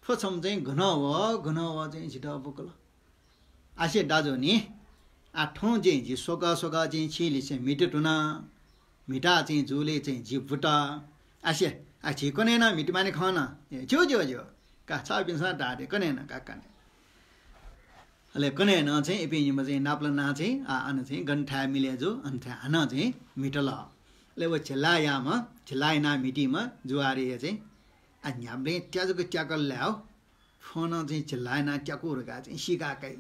थ्व छम्ह चाहिँ गन वः, गन वः चाहिँ जितः बुकल। आसे दाजु नि, आ थौं चाहिँ जि स्वकः स्वकः चाहिँ छिलिसे म्हिते धुन, म्हिता चाहिँ जुले चाहिँ जि बुत। आसे, आ झी कन्हय् नं म्हिते मानि खन। ए, ज्यू, ज्यू, ज्यू। का छपिन्सं धाःथें कन्हय् नं का कने। अले कन्हय् नं चाहिँ इपिं निम्ह चाहिँ नापलानाः चाहिँ, आ, अन चाहिँ गन थाय् मिले जू, अन थाय् हानं चाहिँ म्हितल। अले व झिल्लायाम्ह, झिल्ला यानाः म्हितीम्ह जुवारीया चाहिँ, आ, न्ह्याबलें त्याजक त्याकल लाय् हो। फ्वं नं चाहिँ झिल्ला यानाः त्याकू धकाः चाहिँ सीका काइ।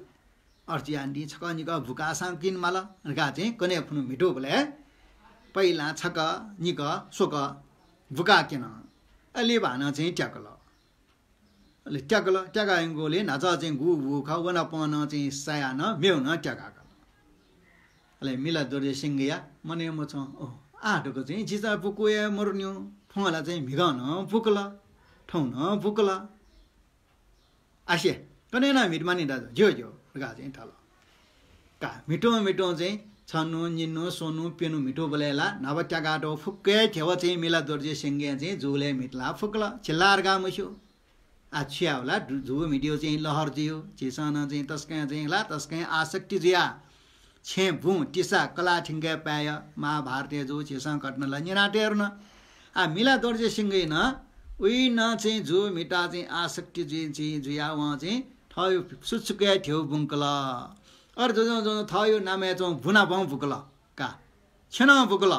अथे जुयाः नि छकः निकः बुकाःसां किन माल धकाः चाहिँ कन्हय् खुन्हु म्हितूबलय् पहिलां छकः निकः स्वकः बुकाः क्यन। अले भानं चाहिँ त्याकल। अले त्याकल, त्याका यंगुलिं न्हाचः चाहिँ गु बू खः, व नापं नं चाहिँ सायाः नं मेगु नं त्याकाकल। अले मिला दोर्जे सिंहया मनय् मछं, ओह, आः धक चाहिँ जिचा बुकू हे मरुन्यु, थौं ला चाहिँ म्हिगः नं बुकल, थौं नं बुकल। आसे, कन्हय् नं म्हिते मानि दाजु, ज्यू, ज्यू धकाः चाहिँ धाल। का, म्हितुं म्हितुं चाहिँ छन्हु, निन्हु, स्वन्हु, प्यन्हु म्हितूबलय् ला न्हापा त्याकातःगु फुक्क हे ध्यबा चाहिँ मिला दोर्जे सिंहया चाहिँ जुलय् म्हितलाः फुकल, झिल्ला धकाः मस्यू। आ, छु याये ला, जु-, जू म्हितेगु चाहिँ लहर जुइगु, झीसं नं चाहिँ तसकं चाहिँ ला, तसकं आसक्ति जुयाः छेँ बुँ तिसा कलाः थ्यंके पाय्‌या महाभारतय् जू झीसं घटना ला न्यनातये धुन। आ, मिला दोर्जे सिंहया नं उइ नं चाहिँ जू म्हिताः चाहिँ आसक्ति जुइ, जुइ, जुयाः वं चाहिँ थःगु सुचुकय् ध्यबा बुंकल। अले जुजुं जुजुं थःगु नामय् च्वंगु बुँ नापं बुकल। का, छेँ नं बुकल।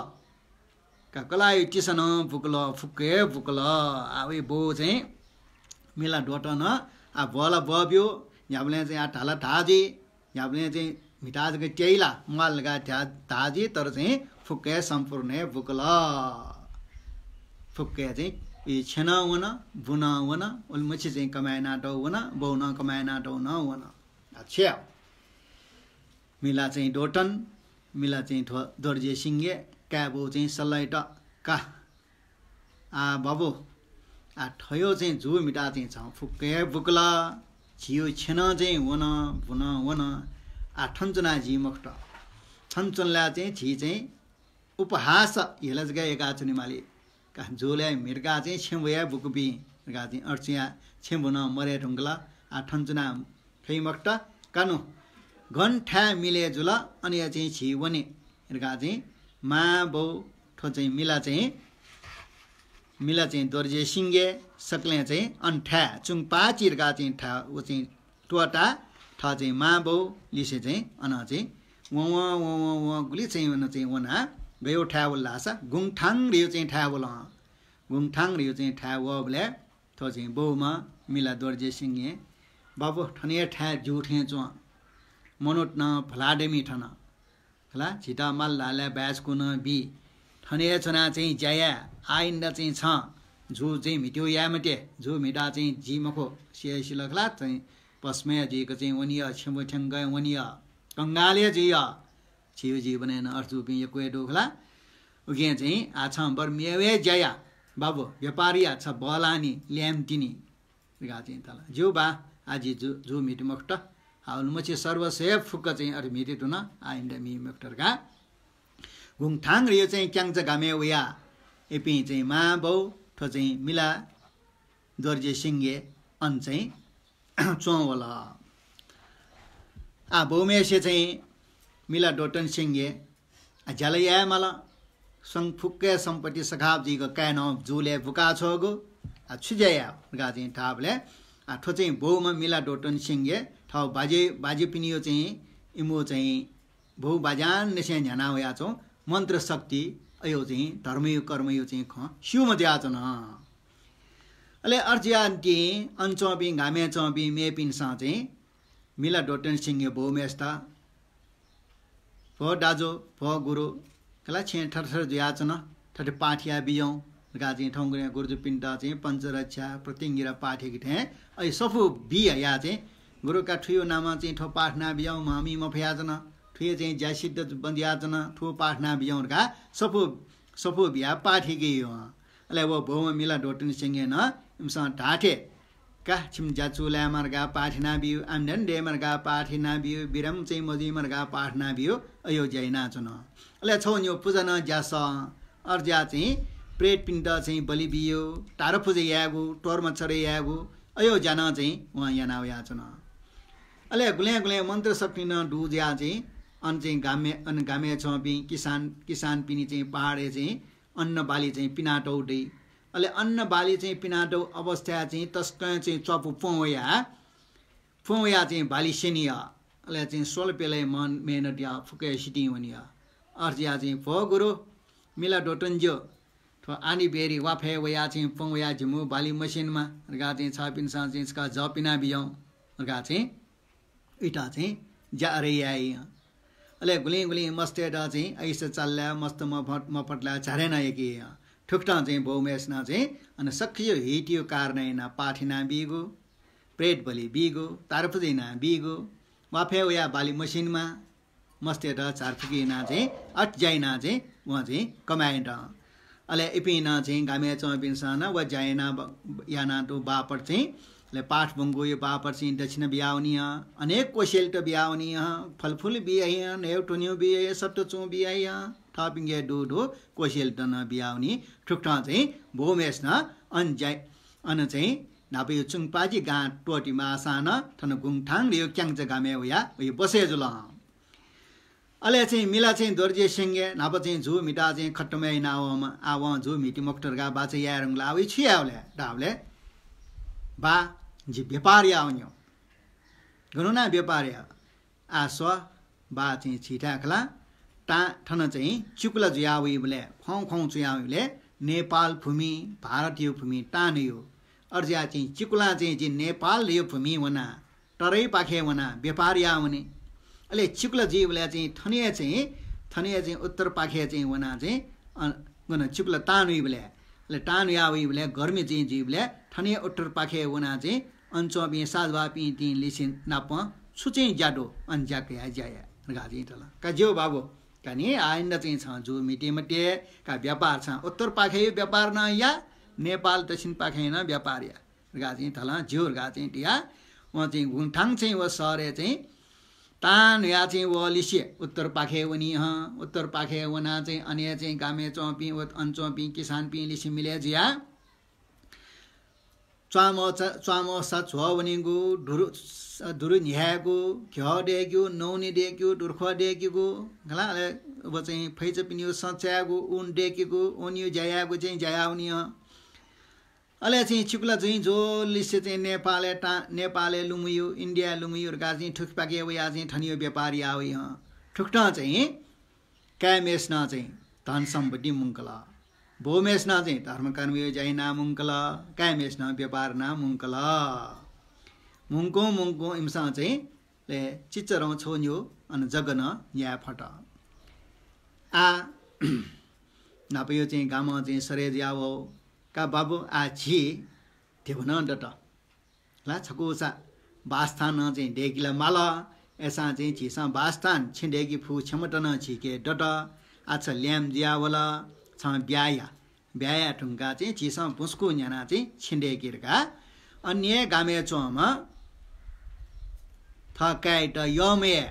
का, कलाःया तिसा नं बुकल, फुक्क हे बुकल। आ, वया बौ चाहिँ मिला दोर्जें नं, आ, ब्वः ला ब्वःब्यू, न्ह्याबलें चाहिँ, आ, धा ला धा जुइ, न्ह्याबलें चाहिँ म्हिताः जक त्याइ ला, म्वाल धकाः धा, धा जुइ, तर चाहिँ फुक्क हे सम्पूर्ण हे बुकल। फुक्क हे चाहिँ ई छेँ नं वन, बुँ नं वन, उलिमछि चाहिँ कमाय् यानातःगु वन, बौ नं कमाय् यानातःगु नं वन। अच्छा। मिला चाहिँ दोर्जें, मिला चाहिँ थ्व दोर्जे सिंहया काय्‌बौ चाहिँ सल्लाइत का। आ बाबु, आ थ्व चाहिँ जू म्हिताः चाहिँ छं फुक्क हे बुकल, झीगु छेँ नं चाहिँ वन, बुँ नं वन। आ थन च्वनाः जुइ मखुत। थन च्वनेला चाहिँ झी चाहिँ उपहास हेला जक याकाः च्वनेमाली। का, जुलय् म्हितकाः चाहिँ छेँ बुँ हे बुकूपिं धकाः चाहिँ अथे जुयाः छेँ बुँ नं मरये धुंकल। आ थन च्वनाः फइ मखुत। का नु, गन थाय् मिले जुल, अन या चाहिँ झी वने धकाः चाहिँ मां बौ थ्व चाहिँ मिला चाहिँ, मिला चाहिँ दोर्जे सिंहया सकलें चाहिँ अन थाय् चुंगपाचि धकाः चाहिँ थाय् व चाहिँ त्वःताः थः चाहिँ मां बौ लिसे चाहिँ अन चाहिँ वं वं वं वं वं गुलि चाहिँ अन चाहिँ वनाः गय् थाय् वल धाःसा गुंगथाङ धइगु चाहिँ थाय् वल। गुंगथाङ धइगु चाहिँ थाय् वःबलय् थ्व चाहिँ बौम्ह मिला दोर्जे सिंहं, बाबु, थन हे थाय् ज्यू थें च्वं। मनूत नं भलादमि थन। खला, झीत माल धाःसा बाय्‌सकूनं बी। थन हे च्वनाः चाहिँ ज्या याये। आइन्दा चाहिँ छं जू चाहिँ म्हितेगु याये मते। जू म्हिताः चाहिँ जुइ मखु। सिया सिल खला, चाहिँ भस्म हे जुइक चाहिँ वनी या, छेँ बुँ थ्यंक वनी या, कंगाल हे जुइ या। झीगु जीवनय् नं अथे जूपिं यक्व हे दु खला। उकिं चाहिँ आः छं बरु मेगु हे ज्या या। बाबु, व्यापार या, छ बल्लाःनि, ल्याय्‌म्ह तिनि धकाः चाहिँ धाल। ज्यू बा, आः जि जू, जू म्हिते मखुत। आ उलिमछि सर्वस्व हे फुक्क चाहिँ अथे म्हिते धुन, आइन्दा मी मखुत धकाः गुंगथाङ धइगु चाहिँ क्यांचा गामय् वयाः इपिं चाहिँ मां बौ थ्व चाहिँ मिला दोर्जे सिंह अन चाहिँ च्वं वल। आ बौम्हेसे चाहिँ मिला दोर्जे सिंह, आ ज्या ला याये माल, सं फुक्क हे सम्पत्ति सखाप जुइक काय् नं जुलय् बुकाछ्वःगु, आ छु ज्या याये धकाः चाहिँ धाःबलय्, आ थ्व चाहिँ बौम्ह मिला दोर्जे सिंह थः बाजे, बाजेपिनिगु चाहिँ इमिगु चाहिँ बौ बाज्यां निसें न्ह्याना वयाच्वंगु मन्त्र शक्ति, अयो चाहिँ धर्मयो कर्मयो चाहिँ खँ स्यूम्ह जुयाच्वन। अले अथे जुयाः निंतिं अन च्वंपिं गामय् च्वंपिं मेपिन्सं चाहिँ मिला दोर्जे सिंहया बौम्हेसित, भो दाजु, भो गुरु, खला छेँ थरथर जुयाच्वन, थथे पाठ याये बिज्याहुँ धकाः चाहिँ थौंकन्हय् गुरुजुपिन्त चाहिँ पञ्चरक्षा, प्रतिङ्गिरा पाठ याके थें अय् सफू बी हयाः चाहिँ गुरु का थुयो नामं चाहिँ थ्व पाठ याना बिज्याहुँ, म्हमि मफयाच्वन, थुयो चाहिँ ज्या सिद्ध जुयाच्वन, थ्व पाठ याना बिज्याहुँ धकाः सफू, सफू बियाः पाठ याके यः। अले व बौम्ह मिला दोर्जे सिंहं नं इमिसं धाःथें का, छिमि ज्या चूलायेमा धकाः पाठ याना बिउ, आम्दानी दयेमा धकाः पाठ याना बिउ, बिरामी चाहिँ मजुइमा धकाः पाठ याना बिउ, अयो ज्या यानाच्वन। अले छगू निगू पुजा नं ज्यासः, अथे जुयाः चाहिँ प्रेतपिन्त चाहिँ बलि बिउ, तारा पुजा यायेगु, तोर्मा चढे यायेगु, अयो ज्या नं चाहिँ वं याना वयाच्वन। अले गुलें गुलें मन्त्र शक्ति नं दु जुयाः चाहिँ अन चाहिँ गामय्, अन गामय् च्वंपिं किसान, किसानपिनि चाहिँ पहाडय् चाहिँ अन्न बाली चाहिँ पिनातौ दइ। अले अन्न बाली चाहिँ पिनातौ अवस्थाय् चाहिँ तसकं चाहिँ च्वापु प्वँ वयाः, प्वँ वयाः चाहिँ बाली स्यनी। अले चाहिँ स्वल्पय् मन मेहनत याः फुक्क सितिं वनी। अथे जुयाः चाहिँ भो गुरु, मिला दोतन ज्यू, थ्व आनी बेरी वाफय् वयाः चाहिँ प्वँ वयाः जिमिगु बाली मस्यनेमा धकाः चाहिँ छपिन्सं चाहिँ छकः जः पिना बिज्याहुँ धकाः चाहिँ उइत चाहिँ ज्या अरे याइ। अले गुलिं गुलिं मस्तय्त चाहिँ अइसा चाललाय् मस्त मफत, मफतलाय् झारे नं यकी। थुकथं चाहिँ बौम्हेसिनं चाहिँ अन सक्रिय हितियो कारण यानाः पाठ याना बीगु, प्रेत बलि बीगु, तारपुजा याना बीगु, वाफय् वयाः बाली मस्यनेमा, मस्तय्त झारफुकी यानाः चाहिँ अथे ज्या यानाः चाहिँ वं चाहिँ कमाय् यात। अले इपिं नं चाहिँ गामय् च्वंपिन्सं नं व ज्या याना ब-, यानातःगु बापत चाहिँ, अले पाठ ब्वंगुयो बापत चाहिँ दक्षिणा बियावनी हं, अनेक कोसेलित बियावनी हं, फलफुल बियाइ हं, न्हय्‌गू त्वन्हु बियाइ हं, सत्तुचुं बियाइ हं, थःपिंके दुगु दुगु कोसेलित नं बियावनी। थुकथं चाहिँ बौम्हेसिनं अन ज्या, अन चाहिँ न्हापायो चुंगपाजी गां त्वःति माःसां नं थन गुंगथांगु क्यांचा गामय् वयाः वइ बसे जुल हं। अले चाहिँ मिला चाहिँ दोर्जे सिंहया न्हापा चाहिँ जू म्हिताः चाहिँ खतम यानावःम्ह, आः वं जू म्हिती मखुत धकाः बाचा याये धुंकल। आः वइ छु यायेबलय् धाःबलय्, बा, जि व्यापार यावनी। गन यानाः व्यापार याये? आः स्व, बा चाहिँ झीथाय् खला, तां थन चाहिँ चिकुला जुया वइबलय्, ख्वाउँ ख्वाउँ चुया वइबलय् नेपाल भूमि, भारतयो भूमि तां नयो। अथे जुयाः चाहिँ चिकुलां चाहिँ जि नेपालयो भूमि वनाः तराईपाखे वनाः व्यापार याः वने। अले चिकुला जुइबलय् चाहिँ थनया चाहिँ, थनया चाहिँ उत्तरपाखे चाहिँ वनाः चाहिँ, अ, गन चिकुला तां वइबलय्, अले तां वया वइबलय् गर्मी चाहिँ जुइबलय् थनया उत्तरपाखे वनाः चाहिँ अन च्वंपिं साधुबापिं तिं लिसे नाप छु चाहिँ ज्या दु, अन ज्या कयाः ज्या या धकाः चाहिँ धल। का ज्यू बाबु, का नि आइन्दा चाहिँ छं जू म्हिते मते, का व्यापार छं उत्तरपाखेयो व्यापार नं या, नेपाल दक्षिणपाखे नं व्यापार या। धकाः चाहिँ धल, ज्यू धकाः चाहिँ धया। वं चाहिँ गुंगथांग चाहिँ व शहरय् चाहिँ तां न्हुया चाहिँ व लिसे उत्तरपाखे वनी हं। उत्तरपाखे वनाः चाहिँ अन चाहिँ गामय् च्वंपिं व अन च्वंपिं किसानपिं लिसे मिले जुया च्वामः चा-, च्वामः सा झ्वः वनीगु, दुरु, दुरु न्ह्यायेगु, घ्यः दय्‌केगु, नौनी दय्‌केगु, दुर्ख्वः दय्‌केगु, खला, अले व चाहिँ फैचापिनिगु सँ चायेगु, ऊन दय्‌केगु, ऊनयो ज्या यायेगु चाहिँ ज्या याः वनी हं। अले चाहिँ चिकुला जुइ ज्वःलिसे चाहिँ नेपालय् ता-, नेपालय् लुमयु, इन्डियाय् लुमयु धकाः चाहिँ थुकिपाखे वयाः चाहिँ थनयो व्यापार याः वइ हं। थुकथं चाहिँ काय्‌म्हेसिनं चाहिँ धन सम्पत्ति मुंकल। बौम्हेसिनं चाहिँ धर्मकर्मयो ज्या याना मुंकल। काय्‌म्हेसिनं व्यापार याना मुंकल। मुंकुं मुंकुं इमिसं चाहिँ ले चिच्चरं छगू न्ह्यू अन जग्गा नं न्याये फत। आः न्हापायो चाहिँ गामं चाहिँ सरे जुया वः। का बाबु, आः झी धिबा नं दत। ला छकूचा बासस्थान नं चाहिँ दय्‌के ला माल। अय्‌सां चाहिँ झीसं बासस्थान छेँ दय्‌के फु क्षमता नं झीके दत। आः छ ल्याय्म्ह जुया वल, छं ब्याहा या। ब्याहा याये धुंकाः चाहिँ झीसं बुँसकू न्ह्यानाः चाहिँ छेँ दय्‌के धकाः अन हे गामय् च्वंम्ह थः काय्‌यात यःम्हया,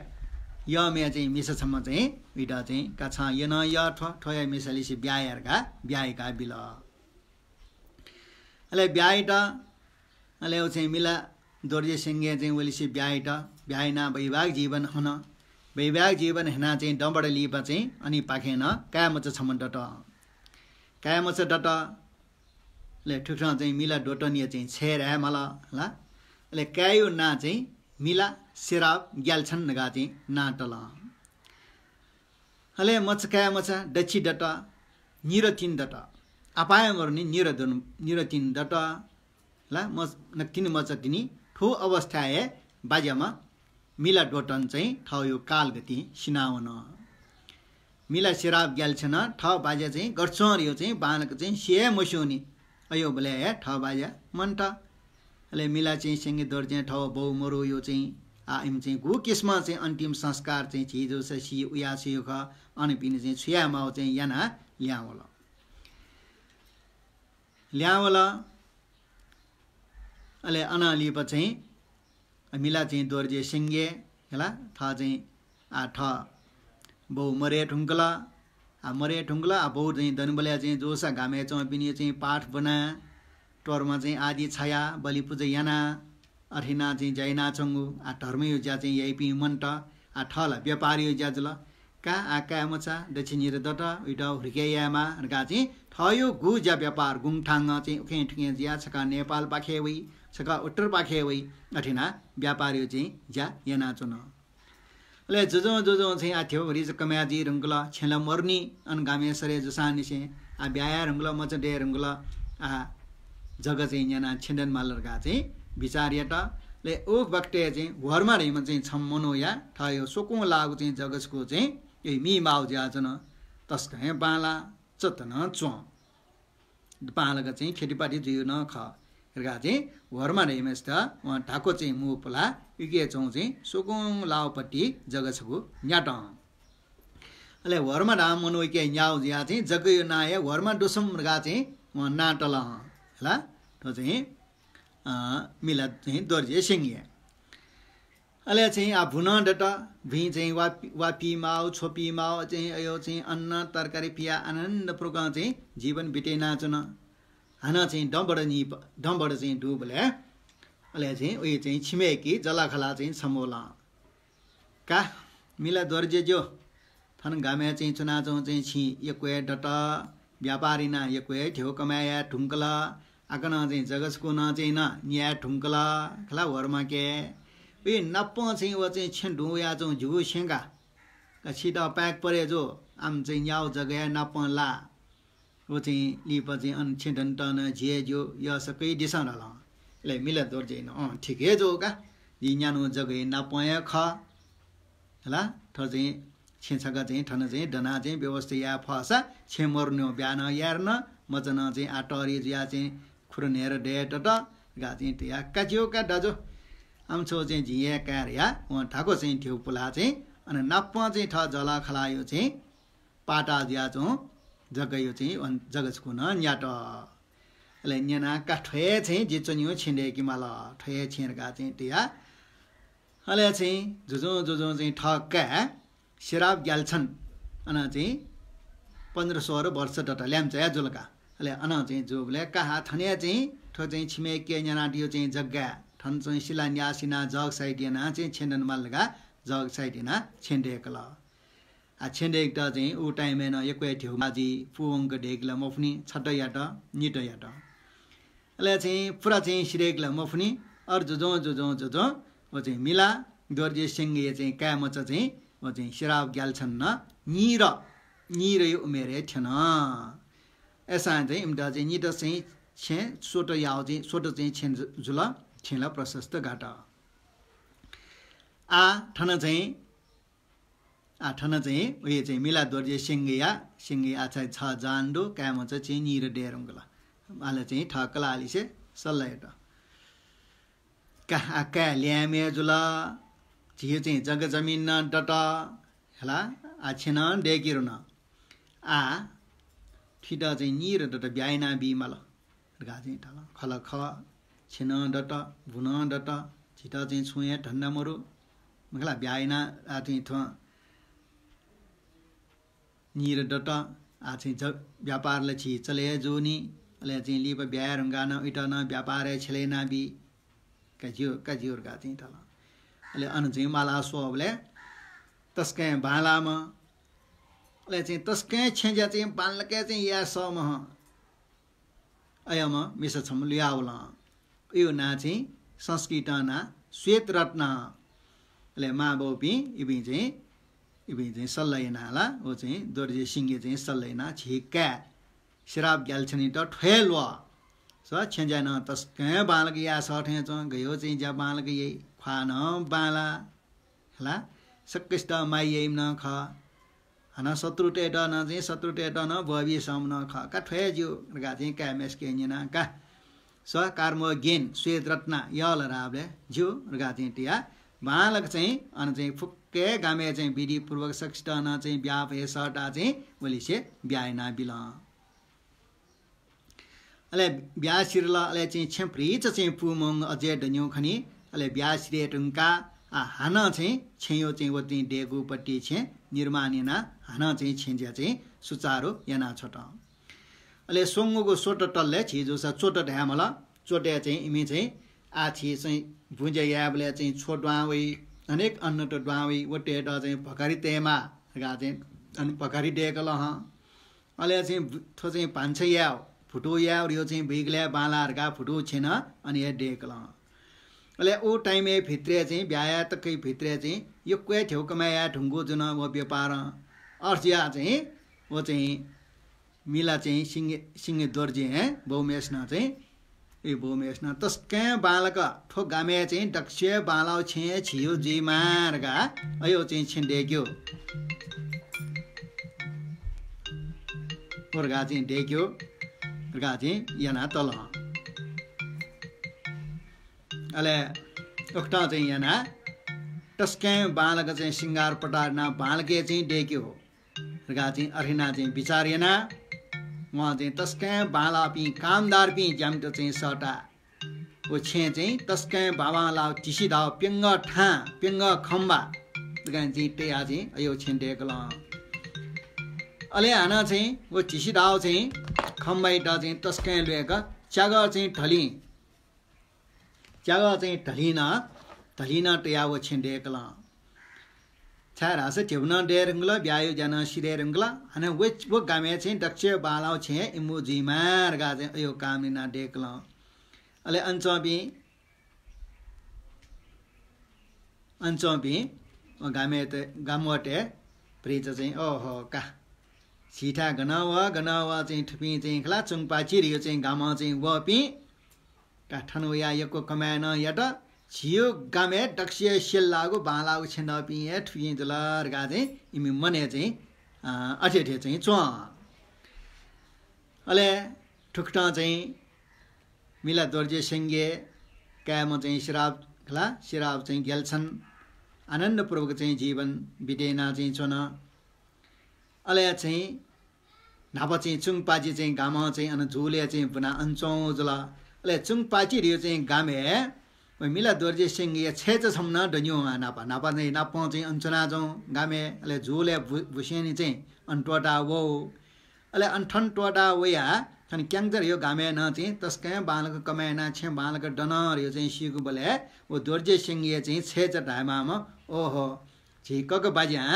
यःम्हया चाहिँ मिसा छम्ह चाहिँ उइत चाहिँ का छं यः नं यः थ्व, थ्वया मिसालिसे ब्याहा या धकाः ब्याहा याकाः बिल। अले ब्याहा यात, अले व चाहिँ मिला दोर्जे सिंहं चाहिँ वलिसे ब्याहा यात, ब्याहा यानाः वैवाहिक जीवन हन। वैवाहिक जीवन हनाः चाहिँ दँबड लिपा चाहिँ अनिपाखें नं काय्‌मचा छम्ह दत। काय्‌मचा दत। अले थुकथं चाहिँ मिला दोतनया चाहिँ छय् धाये माल ला। अले काय्‌यो नां चाहिँ मिला सेराब ग्याल्छन धकाः चाहिँ नां तल। अले मचा काय्‌मचा दच्छि दत, निर तिनि दत। आपाय् मरुनि निर दन-, निर तिनि दत। ला मच-, न तिनि मचा तिनि। थ्व अवस्थाय् हे बाज्याम्ह मिला दोतन चाहिँ थःयो कालगतिं सिनावन। मिला सेराब ग्याल्छनं थः बाज्या चाहिँ गथे च्वं धयो चाहिँ बांलाक चाहिँ सिये मस्यूनि। अयोबलय् हे थः बाज्या मन्त। अले मिला चाहिँ सिंह दोर्जें थः बौ मरुयो चाहिँ आः इमि चाहिँ गु किसिमं चाहिँ अन्तिम संस्कार चाहिँ झी जूसा सी उया सी खः, अन पिने चाहिँ छु याये माःगु चाहिँ यानाः ल्याहां वल। ल्याहां वल। अले अनं लिपा चाहिँ मिला चाहिँ दोर्जे सिंह हला, थः चाहिँ आः थः बौ मरे धुंकल। आः मरे धुंकल, आः बौ चाहिँ दनिबलय् चाहिँ जूसा गामय् च्वंपिनि चाहिँ पाठ ब्वना, तोर्मा चाहिँ आदि छाया बलि पुजा याना, अथे याना चाहिँ ज्या यानाच्वंगु, आ, धर्मयो ज्या चाहिँ याइपिं मन्त, आ, थः ला व्यापारयो ज्या जुल। का आ काय् मचा, दच्छि निद्रा दत, उइत हुर्के यायेमाः धकाः चाहिँ थःयो गु ज्या व्यापार गुंथांगं चाहिँ उखें थुखें जुयाः छकः नेपालपाखे वइ, छकः उत्तरपाखे वइ, अथे याना व्यापारयो चाहिँ ज्या यानाच्वन। अले जुजुं जुजुं चाहिँ आ थ्यंभरि जक कमाय् जुइ धुंकल, छेँ ला मरुनि, अन गामय् सरे जूसांनिसें आ ब्याहा याये धुंकल, मचा दये धुंकल, आ जग चाहिँ न्यानाः छेँ दने माल धकाः चाहिँ बिचार यात। अले उ बखतय् चाहिँ वर्मा धइम्ह चाहिँ छम्ह मनूया थःयो स्वकुं लाःगु चाहिँ जग छकू चाहिँ ए मी माउ जुयाच्वन। तसकं हे बांलाः, चत नं च्वं। बांलाक चाहिँ खेतीपाती जुइगु नं खः। धकाः चाहिँ वर्मा धइम्हसित वं धाक्व चाहिँ मू पुलाः उके च्वंगु चाहिँ स्वकुं लाःपट्टि जग छकू न्यात। अले वर्मा धाःम्ह मनू उके न्याः जुयाः चाहिँ जगयो नां हे वर्मा दुसुम धकाः चाहिँ वं नां तल। हला, थ्व चाहिँ, अ, मिला चाहिँ दोर्जे सिंह हे। अले चाहिँ आ भु नं दत, भुइँ चाहिँ वापि-, वापी माउ, छ्वपी माउ, चाहिँ अयो चाहिँ अन्न तरकारी पिया आनन्दपूर्वकं चाहिँ जीवन बितेयानाच्वन। हानं चाहिँ दँबड नि-, दँबड चाहिँ दुबलय् अले चाहिँ उइ चाहिँ छिमेकी जःलाखःला चाहिँ छम्ह वल। का मिला दोर्जेज्यू, थन गामय् चाहिँ च्वनाच्वं चाहिँ छिं यक्व हे दत, व्यापार यानाः यक्व हे ध्यबा कमाय् याये धुंकल, आकनं चाहिँ जग छकू नं चाहिँ नं न्याये धुंकल खला वर्माके। उइ नापं चाहिँ व चाहिँ छेँ दुं वयाच्वं ज्यू स्यंका। का छित पाय्क परे जू, आम चाहिँ न्याउ जगय् नापं ला। व चाहिँ लिपा चाहिँ अन छेँ दनेत नं झी हे ज्यू, यःसा कयादिसँ धाल। अले मिला दोर्जें नं, अँ, ठीक हे जू का, जि न्यान्हु जगय् नापं हे खः। हला, थ्व चाहिँ छेँ छकः चाहिँ थन चाहिँ दनाः चाहिँ व्यवस्था याये फःसा छेँ मरुन्यु ब्याहा नं याये रन, मचा नं चाहिँ आ तःरि जुयाः चाहिँ खुर न्हय्‌र दये दत धकाः चाहिँ तया का ज्यू का दाजु। आम छौ चाहिँ जिं हे काये धया वं धाक्व चाहिँ ध्यबा पुलाः चाहिँ अन नापं चाहिँ थः जःलाखःलायो चाहिँ पाता जुयाच्वं जगयो चाहिँ अन जग छकू नं न्यात। अले न्यना का थ्व हे छेँ जि च्वन्यु छेँ दय्‌के माल, थ्व हे छेँ धकाः चाहिँ तया। अले चाहिँ जुजुं जुजुं चाहिँ थः काय् सिराब ग्याल्छन अन चाहिँ पन्ध्र सोह्र वर्ष दत ल्याम्चाया जुल का। अले अन चाहिँ जूबलय् का हा थन हे चाहिँ थ्व चाहिँ छिमेके न्यानादियो चाहिँ जग्गा थन चाहिँ शिलान्यास यानाः जग साइत यानाः चाहिँ छेँ दने माल धकाः जग साइत यानाः छेँ दय्‌कल। आ छेँ दय्‌केत चाहिँ उ time-य् नं यक्व हे ध्यबा जुइ, पूवंक दय्‌के ला मफुनि, छता यात, निता यात। अले चाहिँ पुरा चाहिँ सिधय्‌के ला मफुनि, अर जुजुं जुजुं जुजुं व चाहिँ मिला दोर्जे सिंहया चाहिँ काय् मचा चाहिँ व चाहिँ सिराब ग्याल्छन नं नीर, नीरयो उमेरय् थ्यन। अय्‌सां चाहिँ इमित चाहिँ निता चाहिँ छेँ स्वत याउ चाहिँ स्वत चाहिँ छेँ जु-, जुल, छेँ ला प्रशस्त गात। आ थन चाहिँ आ, थन चाहिँ उइ चाहिँ मिला दोर्जे सिंहया, सिंहया आ चाहिँ छ जहान दु, काय् मचा चाहिँ नीर दये धुंकल। आले चाहिँ थः कलाःलिसे सल्लाह यात। का, आ काय् ल्याय्‌म्ह जुल, झीयो चाहिँ जग्गा जमिन नं दत, हला, आ छेँ नं दय्‌के रुन। आ थित चाहिँ नीर दत ब्याहा यानाबी माल। धकाः चाहिँ धाल। खः ला खः, छेँ नं दत, भु नं दत, झीत चाहिँ छुं हे धन्दा मरु। मखु ला, ब्याहा यानाः आ चाहिँ थ्व नीर दत, आ चाहिँ ज-, व्यापार ला झी चले हे जूनि। अले चाहिँ लिपा ब्याहा याये धुंकाः नं उइत नं व्यापारय् छ्यले यानाबी। का ज्यू, का ज्यू धकाः चाहिँ धाल। अले अन चाहिँ मालाः स्वःबलय् तसकं बांलाःम्ह, अले चाहिँ तसकं छेँज्या चाहिँ बांलाक चाहिँ याये सःम्ह अय्‌म्ह मिसा छम्ह लुयावल। उयो नां चाहिँ संस्कृतं नां श्वेतरत्न। अले मांबौपिं इपिं चाहिँ, इपिं चाहिँ सल्लाह यानाः ला व चाहिँ दोर्जे सिंहया चाहिँ सल्लाह यानाः झी काय् सिराब ग्याल्छनयात थ्व हे ल्वः। स छेँज्या नं तसकं बांलाक याये सः थें च्वं, गयो चाहिँ ज्या बांलाक याइ, ख्वाः नं बांलाः। हला, सकसित माया याइम्ह नं खः। हानं शत्रुतय्‌त नं चाहिँ, शत्रुतय्‌त नं ब्वःबी सःम्ह नं खः। का थ्व हे ज्यू धकाः चाहिँ काय् मेसके न्यना का। स कार्मो गेन श्वेतरत्न यल राबले ज्यू धकाः चाहिँ तया। बांलाक चाहिँ अन चाहिँ फुक्क हे गामय् चाहिँ विधिपूर्वक सकसित नं चाहिँ ब्याहा फये सःता चाहिँ वलिसे ब्याहा यानाबिल। अले ब्याहा सिधल, अले चाहिँ छेँ भ्रिच चाहिँ पूमंग अझै दन्यु खनी। अले ब्याहा सिधये धुंकाः, आ, हानं चाहिँ छेँयो चाहिँ व चाहिँ देगुपट्टि छेँ निर्माण यानाः हानं चाहिँ छेँज्या चाहिँ सुचारु याना छ्वत। अले स्वंगूगु स्वत तलय् झी जूसा चोट धायेमाल। चोटय् चाहिँ इमि चाहिँ आः झी चाहिँ बुँज्या यायेबलय् चाहिँ छ्व दुहां वइ, अनेक अन्नत दुहां वइ, वतय्‌त चाहिँ भकारी तयेमाः धकाः चाहिँ अन भकारी दय्‌कल हं। अले चाहिँ बु-, थ्व चाहिँ भान्सा याये, भुतु याये धयो चाहिँ बुइगलय् बांलाः धकाः भुतु छेँ नं अन हे दय्‌कल हं। अले उ time-य् भित्रय् चाहिँ ब्याहा याये तक भित्रय् चाहिँ यक्व हे थ्यंगु कमाय् याये धुंकूगु जुल व व्यापारं। अथे जुयाः चाहिँ व चाहिँ मिला चाहिँ सिंह, सिंह दोर्जे हे बौम्हेसिनं चाहिँ, ए बौम्हेसिनं तसकं बांलाक थ्व गामय् चाहिँ दक्वसिबय् बांलाःगु छेँ हे झीगु जुइमाः धकाः अय् व चाहिँ छेँ दय्‌क्यू। व धकाः चाहिँ दय्‌क्यू धकाः चाहिँ याना तल हं। अले उकथं चाहिँ याना तसकं बांलाक चाहिँ सिंगार पटार याना बांलाक हे चाहिँ दय्‌क्यू धकाः चाहिँ अथे याना चाहिँ बिचाः याना वं चाहिँ तसकं बांलाःपिं कामदारपिं ज्यामित चाहिँ सःता व छेँ चाहिँ तसकं बांबांलाःगु तिसिदाउ प्यंगः थां, प्यंगः खम्बा धकाः चाहिँ तयाः चाहिँ अय् व छेँ दय्‌कल हं। अले हानं चाहिँ व तिसिदाउ चाहिँ खम्बायात चाहिँ तसकं ल्वय्‌क च्यागः चाहिँ धलिं, च्यागः चाहिँ धलिं नं, धलिं नं तयाः व छेँ दय्‌कल हं। छाय्‌धाःसा ध्यबा नं दये धुंकल, ब्याहाया ज्या नं सिधये धुंकल। हानं व, व गामय् चाहिँ दक्वसिबय् बांलाःगु छेँ हे इमिगु जुइमाः धकाः चाहिँ अय् व कामना याना दय्‌कल हं। अले अन च्वंपिं, अन च्वंपिं व गामय् त, गामवःतय् भतिचा चाहिँ, ओहो का, झीथाय् गनं वः, गनं वः चाहिँ थुपिं चाहिँ खला चुंगपाचि धयो चाहिँ गामं चाहिँ वःपिं का थन वयाः यक्व कमाय् नं यात। झीगु गामय् दक्वसिबय् सेल्लाःगु बांलाःगु छेँ दःपिं हे थुपिं जुल धकाः चाहिँ इमि मनय् चाहिँ, अ, अथे अथे चाहिँ च्वं। अले थुकथं चाहिँ मिला दोर्जे स्यंगीया काय्‌म्ह चाहिँ सिराब खला, सिराब चाहिँ ग्याल्छन आनन्दपूर्वक चाहिँ जीवन बिते याना चाहिँ च्वन। अले चाहिँ न्हापा चाहिँ चुंगपाचि चाहिँ गामं चाहिँ अन जुलय् चाहिँ बुना अन च्वंगु जुल। अले चुंगपाचि धयो चाहिँ गामय् व मिला दोर्जे स्यंगीया छय्‌चा छम्ह नं दन्यू हं न्हापा। न्हापा चाहिँ नापं चाहिँ अन च्वनाच्वं गामय्। अले जुलय् बु-, बुसेंनि चाहिँ अन त्वःता वः। अले अन थन त्वःता वयाः थन क्यांचा धयो गामय् नं चाहिँ तसकं बांलाक कमाय् याना छेँ बांलाक दन धयो चाहिँ सीगु बलय् व दोर्जे स्यंगीया चाहिँ छय्‌चा धायेमाःम्ह, ओहो, झी ककाबाज्यां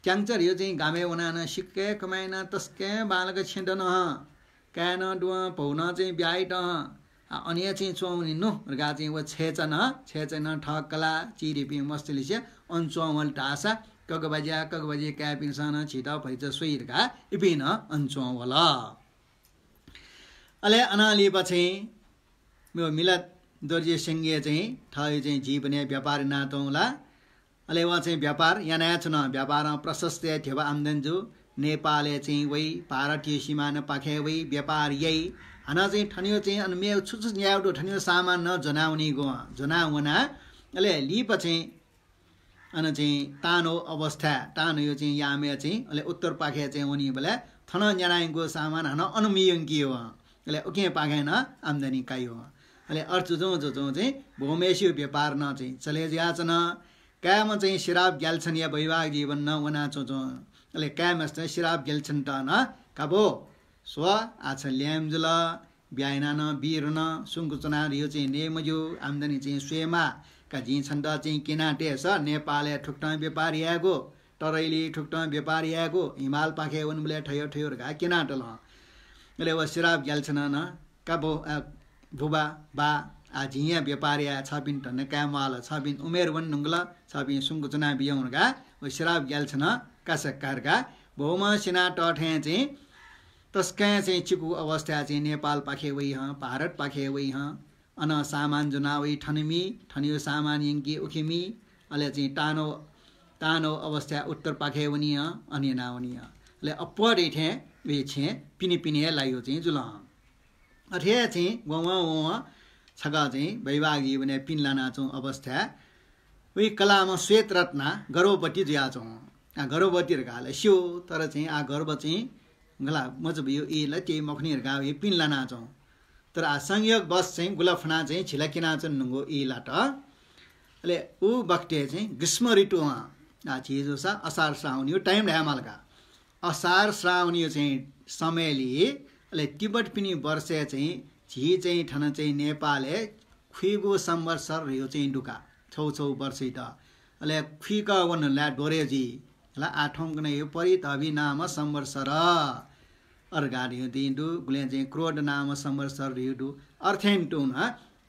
क्यांचा धयो चाहिँ गामय् वनाः नं सिक्क हे कमाय् याना तसकं बांलाक छेँ दन हं। काय् नं दुवं, भौ नं चाहिँ ब्याहा यात हं। आ, अन हे चाहिँ च्वंवनी नु धकाः चाहिँ व छय्‌चा नं, छय्‌चा नं थः कलाः चिधीपिं मस्तुलिसे अन च्वंवल धाःसा ककाबाज्या, ककाबाज्या काय्‌पिन्सं नं झीत भतिचा स्वइ धकाः इपिं नं अन च्वंवल। अले अनं लिपा चाहिँ व मिला दोर्जे स्यंगीया चाहिँ थःगु चाहिँ जीवनय् व्यापार याना तुं ला। अले व चाहिँ व्यापार याना हे च्वन। व्यापारं प्रशस्त हे ध्यबा आम्दानी जू। नेपालय् चाहिँ वइ, भारतया सिमानापाखे वइ, व्यापार याइ। हानं चाहिँ थनयो चाहिँ अन मेगु छु छु न्यायेगु दु, थनयो सामान नं ज्वनावनीगु, ज्वनावना। अले लिपा चाहिँ अन चाहिँ तांनौ अवस्था, तांनौया चाहिँ यामय् चाहिँ अले उत्तरपाखे चाहिँ वनीबलय् थन न्यानाइगु सामान हानं अन मयंकी वं। अले उकिंपाखें नं आम्दानी काइ वं। अले अथे जुजुं जुजुं चाहिँ बौम्हेसिगु व्यापार नं चाहिँ चले जुयाच्वन। काय्‌म्ह चाहिँ सिराब ग्याल्छनया वैवाहिक जीवन नं वना च्वंच्वं। अले काय्‌म्हेसित सिराब ग्याल्छनत नं, का बौ, स्व, आः छ ल्याय्म्ह जुल, ब्याहा याना नं बी धुन, सुंक च्वना धयो चाहिँ नये मज्यू, आम्दानी चाहिँ स्वयेमाः। का जिं छन्त चाहिँ क्यना तयेसा नेपालय् थुकथं व्यापार यायेगु, तरैली थुकथं व्यापार यायेगु, हिमालपाखे वनेबलय् थयो थयो धकाः क्यना तल हं। अले व सिराब ग्याल्छनं नं, का बौ, अ, बुबा, बा, आः जिं हे व्यापार याये, छपिं धन्दा काये म्वाल, छपिं उमेर वने धुंकल, छपिं सुंक च्वना बिज्याहुँ धकाः व सिराब ग्याल्छनं कासा का धकाः बौम्ह सिना तःथें चाहिँ तसकं चाहिँ चिकु अवस्थाय् चाहिँ नेपालपाखे वइ हं, भारतपाखे वइ हं। अन सामान ज्वना वइ, थन मी, थनयो सामान यंकी उखे मी। अले चाहिँ तांनौ, तांनौ अवस्थाय् उत्तरपाखे वनी हं, अन याना वनी हं। अले अप्वः धइथें व छेँ पिने पिने हे लाइगु चाहिँ जुल हं। अथे हे चाहिँ ववं ववं छकः चाहिँ वैवाहिक जीवनय् पिने लानाच्वंगु अवस्थाय् वइ कलाःम्ह श्वेतरत्ना गर्भवती जुयाच्वं। आः गर्भवती धकाः ला स्यू, तर चाहिँ आः गर्भ चाहिँ गला मचाबुइगु ई ला त्य मखुनि धकाः वइ पिने लानाच्वं। तर आः संयोगवश चाहिँ गुलफना चाहिँ झिला क्यनाच्वने धुंगु ई लात। अले उ बखतय् चाहिँ ग्रीष्म ऋतु हं, आः झी जूसा असार श्रावणयो time धायेमाल का। असार श्रावणयो चाहिँ समयलय् अले तिब्बतपिनि वर्षय् चाहिँ झी चाहिँ थन चाहिँ नेपालय् खुइगु संवत्सर ह्रियो चाहिँ दुका, छौ छौ वर्षइत। अले खुइक वन ला द्वरे जुइ। हला, आ थौंकन्हय् यो परितभि नाम संवत्सर अर्घा ह्रियो दिं दु, गुलें चाहिँ क्रोध नाम संवत्सर ह्रियो दु। अर्थेन तुं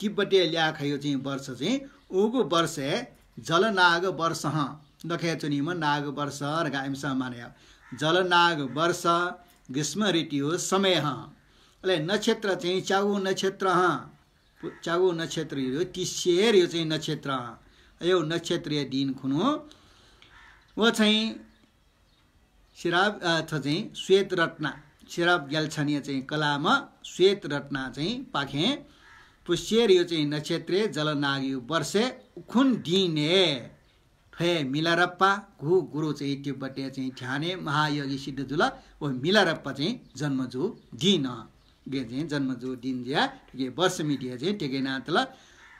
तिब्बतय् ल्याखयो चाहिँ वर्ष चाहिँ उगु वर्षय् जलनाग वर्ष हं, दखय् च्वनीम्ह नाग वर्ष धकाः इमिसं मानय्। जलनाग वर्ष, ग्रीष्म ऋतुयो समय हं। अले नक्षत्र चाहिँ च्यागू नक्षत्र हं। पु-, च्यागू नक्षत्र यो तिस्सेर यो चाहिँ नक्षत्र हं। अयो नक्षत्रया दिन खुनु व चाहिँ सिराब, अ, थ चाहिँ श्वेत रत्ना, सिराब ग्याल्छानया चाहिँ कलाम श्वेत रत्ना चाहिँ पाखें पुस्सेर यो चाहिँ नक्षत्रे जलनागयो वर्षे उखुन दिने थ्वय् मिलारप्पा घु गुरु चाहिँ तिब्बतय् चाहिँ ध्याने महायोगी सिद्ध जुल। व मिलारप्पा चाहिँ जन्म जू दिन। गे चाहिँ जन्म जू दिन ज्या, थुके वर्ष मितिया चाहिँ टेके नातल।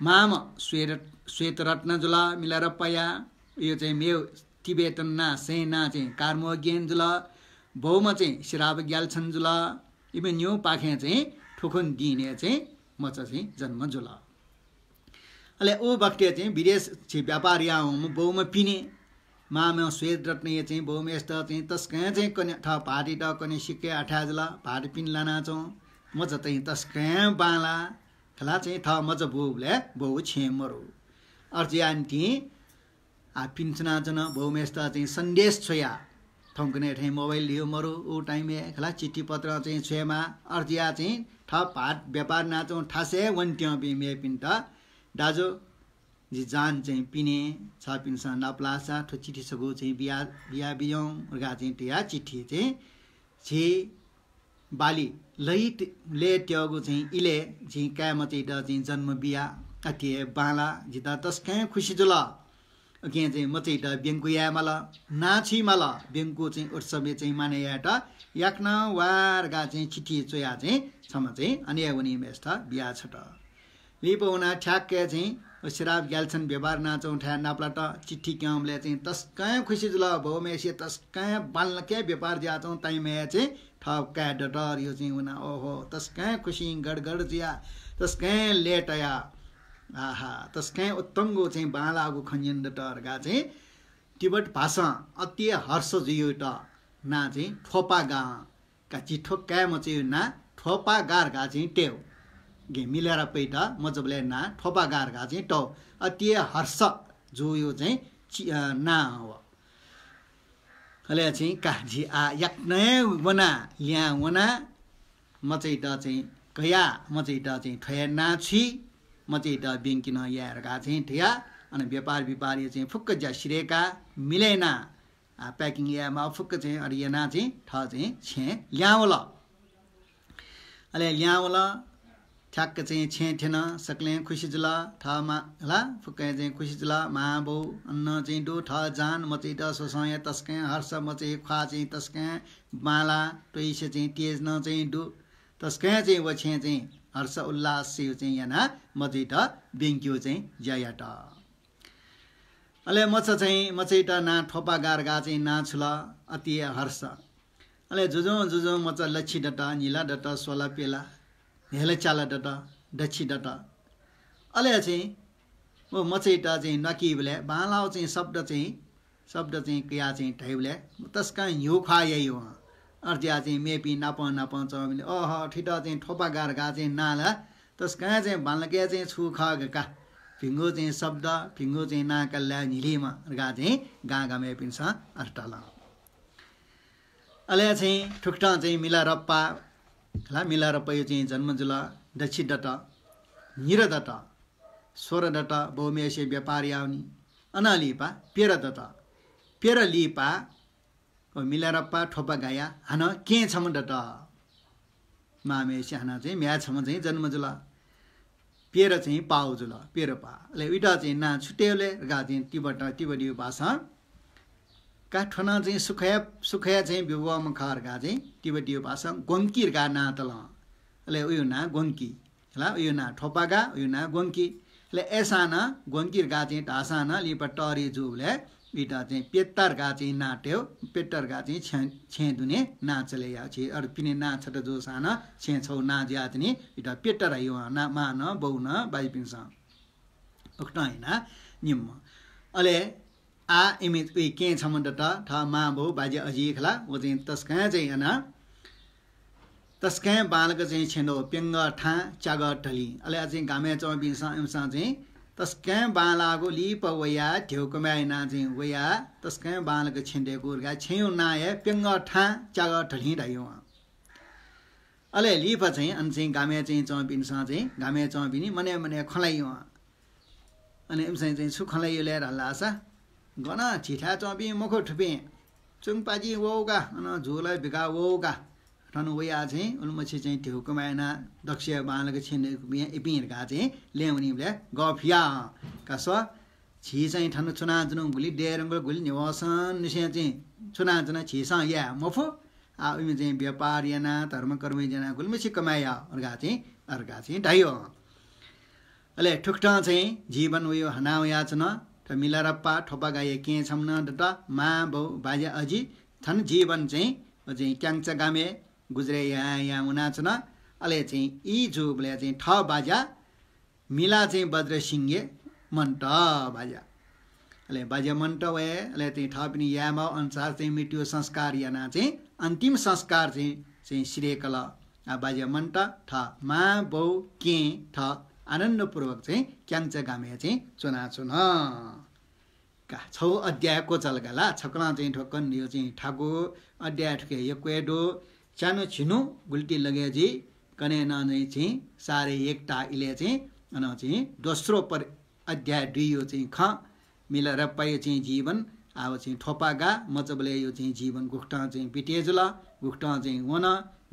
माम श्वेत, श्वेत रत्न जुल मिलारप्पाया। यो चाहिँ मेव तिबेतन ना, सैं ना चाहिँ कार्मोग्यन जुल। बौमा चाहिँ सिराब ग्याल्छन जुल। इबे न्यू पाखें चाहिँ थुखुन दिने चाहिँ मचा चाहिँ जन्म जुल। अले उ बखतय् चाहिँ विदेश चाहिँ व्यापार यावंम्ह बौमा पिने। माम श्वेत रत्नया चाहिँ बौमेस्त चाहिँ तस्कं चाहिँ कने थ भातित कने सिक्के अथाय् जुल। भाति पिन लाना चाहिँ मचा चाहिँ तस्कं बांला। खला चाहिँ थ मचा बुबले बौ छें मरु। अर्जियान्ती आ, पिन्सुना जन बौमेस्त चाहिँ सन्देश छ्वया। थौंकन्हय् थें मोबाइल धियो मरु, उ टाइमय् खला चिठी पत्र चाहिँ छ्वयेमा। अर्जिया चाहिँ थ भात व्यापार नाचौं थासय् वन्त्यंपिं मेपिन्त, दाजु, जि जान चाहिँ पिने, छपिन्सं नापलासा थ्व चिठी छगू चाहिँ बिया, बिया बियौं, उर्गा चाहिँ तया चिठी चाहिँ झी बाली लय्, लय् त्यःगु चाहिँ इलय् झी काय् मचैत चाहिँ जन्म बिया। अथे हे बांला, जितः तसकं खुसी जुल। उकिं चाहिँ मचैत ब्यंकु यायेमाल, नां छुइमाल, ब्यंकु चाहिँ उत्सवय् चाहिँ माने यायेत याकनं वार्गा चाहिँ चिठी च्वया चाहिँ छम्ह चाहिँ अनय् वनीम्हेसित बिया छत। लिपा वनाः ठ्याक्कै चाहिँ व सिराब ग्याल्छन व्यापार नाचौं थाय् नापलात। चिठी क्यंबलय् चाहिँ तसकं खुसी जुल। बौम्हेसिया तसकं बांलाक व्यापार जुयाच्वं ताइम्हय् चाहिँ थः काय् दत। यो चाहिँ वनाः ओहो तसकं खुसिं गडगड जुया, तसकं लय् तया। आहा, तसकं उत्तंगु चाहिँ बांलाःगु खँ न्यने दत धकाः चाहिँ तिब्बत भासं अति हर्ष जुयात नां चाहिँ थ्वपागा का झी थ्व काय् मचैया नां थ्वपागा धकाः चाहिँ तयेगु। गे मिलारप्पायात मचाबलय् नां थ्वपागा धकाः चाहिँ तःगु। अति हर्ष जुयात चाहिँ चि-, अ, नां व। अले चाहिँ का झी आ याकनं वना, ल्याहां वना, मचैत चाहिँ कया, मचैत चाहिँ थ्वय् नां छुइ, मचैत ब्यंकि नं याये धकाः चाहिँ धया, अन व्यापार व्यापारया चाहिँ फुक्क ज्या सिधय्का, मिलय् ना आ, packing यायेमाः फुक्क चाहिँ अथे यानाः चाहिँ थः चाहिँ छेँ ल्याहां वल। अले ल्याहां वल, ठ्याक्क चाहिँ छेँ थ्यन, सकलें खुसी जुल। थः मां ला फुक्कं चाहिँ खुसी जुल। मां बौ अन चाहिँ दु, थः जान मचैत स्वसं हे तसकं हर्ष, मचै ख्वाः चाहिँ तसकं बांला, त्वइसे चाहिँ तेज नं चाहिँ दु। तसकं चाहिँ व छेँ चाहिँ हर्ष उल्लास चाहिँ यानाः मचैत ब्यंकेगु चाहिँ ज्या यात। अले मचा चाहिँ, मचैत नां थ्वपागा धकाः चाहिँ नां छुल, अति हर्ष। अले जुजुं जुजुं मचा लछि दत, न्हिला दत, स्वला प्यला, न्हेला च्याला दत, दछि दत। अले चाहिँ व मचैत चाहिँ न्वाकीबलय् बांलाःगु चाहिँ शब्द चाहिँ, शब्द चाहिँ कयाः चाहिँ धाइबलय् तसकं न्ह्यू ख्वाः याइ वं। अथे जुयाः चाहिँ मेपिं नापं नापं च्वंबलय्, अह, थ्वइत चाहिँ थ्वपागा धकाः चाहिँ नां ला तसकं चाहिँ बांलाक चाहिँ छु खः का। भिंगु चाहिँ शब्द, भिंगु चाहिँ नां काल ला न्हिलीमा धकाः चाहिँ गां गामय्‌पिन्सं अथे धाल। अले चाहिँ थुकथं चाहिँ मिलारप्पा, ला मिलारप्पाया चाहिँ जन्म जुल। दछि दत, न्हिरा दत, स्वरा दत, बौम्हेसे व्यापार यावनी। अनं लिपा प्यरा दत। प्यरा लिपा व मिलारप्पा थ्वपागाया हानं केहेँ छम्ह दत। मांम्हेसे हानं चाहिँ म्ह्याय् छम्ह चाहिँ जन्म जुल। प्यरा चाहिँ पाउ जुल, प्यरा पा। अले उइत चाहिँ नां छु तयेबलय् धकाः चाहिँ तिब्बत, तिब्बतीया भासं का थ्व नं चाहिँ सुखया, सुखया चाहिँ ब्यूम्ह खः धकाः चाहिँ तिब्बतीया भासं ग्वंकी धकाः नां तल। अले उया नां ग्वंकी। ला, उया नां थ्वपागा, उया नां ग्वंकी। अले अय्‌सां नं ग्वंकी धकाः चाहिँ धाःसां नं लिपा तःधि जूबलय् इमित चाहिँ पेट्टा धकाः चाहिँ नां तयेगु, पेट्टा धकाः चाहिँ छेँ, छेँ दुने नां चले याः। झी अरू पिने नां छता जूसां नं छेँ छगू नां जुयाच्वनी, इमित पेट्टा धाइगु, ना, मां नं, बौ नं, बाज्यापिन्सं। उकथं यानाः निम्ह। अले आः इमि उइ केहेँ छम्ह दत, थः मां बौ बाज्या अजि खला, व चाहिँ तसकं चाहिँ यानाः तसकं बांलाक चाहिँ छेँ दु, प्यंगः थां च्यागः धलिं। अले अझ चाहिँ गामय् च्वंपिन्सं इमिसं चाहिँ तसकं बांलाःगु लिपा वयाः ध्यबा कमाय् यानाः चाहिँ वयाः तसकं बांलाक छेँ दयेकू धकाः छेँया नां हे प्यंगः थां च्यागः धलिं धाइगु। अले लिपा चाहिँ अन चाहिँ गामय् चाहिँ च्वंपिन्सं चाहिँ गामय् च्वंपिनि मनय् मनय् खँ ल्हाइगु। अले इमिसं चाहिँ छु खँ ल्हाइगु ले धाःसा, गन झीथाय् च्वंपिं मखु थुपिं, चुङपाजि वःगु का, अन झुला बिका वःगु का। थन वयाः चाहिँ उलिमछि चाहिँ ध्यबा कमाय् यानाः दक्वसिया बांलाक छेँ दयेकूपिं इपिं धकाः चाहिँ लँय् वनीबलय् गफया का स्व। झी चाहिँ थन च्वनाच्वनागु गुलि दयेधुंकल, गुलि न्ह्यवसंनिसें चाहिँ च्वनाच्वना, झीसं याये मफु। आः उइमि चाहिँ व्यापार यानाः धर्मकर्म यानाः गुलिमछि कमाय् याः धकाः चाहिँ, धकाः चाहिँ धाइगु। अले थुकथं चाहिँ जीवन वयाः हना वयाच्वन। थ्व मिलारेपा थ्वपागाया केहेँ छम्ह नं दत, मां बौ बाज्या अजि। थन जीवन चाहिँ व चाहिँ क्यांगचा गामय् गुजरय् यायां यायां वनाच्वन। अले चाहिँ ई जूबलय् चाहिँ थः बाज्या मिला चाहिँ बज्रसिंह मन्त बाज्या। अले बाज्या मन्त वये, अले चाहिँ थःपिनि यायेमाःगु अनुसार चाहिँ मृत्यु संस्कार यानाः चाहिँ अन्तिम संस्कार चाहिँ, चाहिँ सिधय्‌कल। आ, बाज्या मन्त थः मां बौ केहेँ थः आनन्दपूर्वक चाहिँ क्यांगचा गामय् चाहिँ च्वनाच्वन। का, छगू अध्याय क्वचाल का ला, छकलं चाहिँ थ्व कन्हय् चाहिँ थाकु अध्याय थुके यक्व हे दु। च्यान्हु झिन्हु गुलिति लगे जुइ, कन्हय् नं चाहिँ सारे एकता इलय् चाहिँ अन चाहिँ दोस्रो पर-, अध्याय दुइयो चाहिँ खँ, मिलारेपाया चाहिँ जीवन, आः व चाहिँ थ्वपागा मचाबलय्‌यो चाहिँ जीवन गुकथं चाहिँ बिते जुल, गुकथं चाहिँ वन,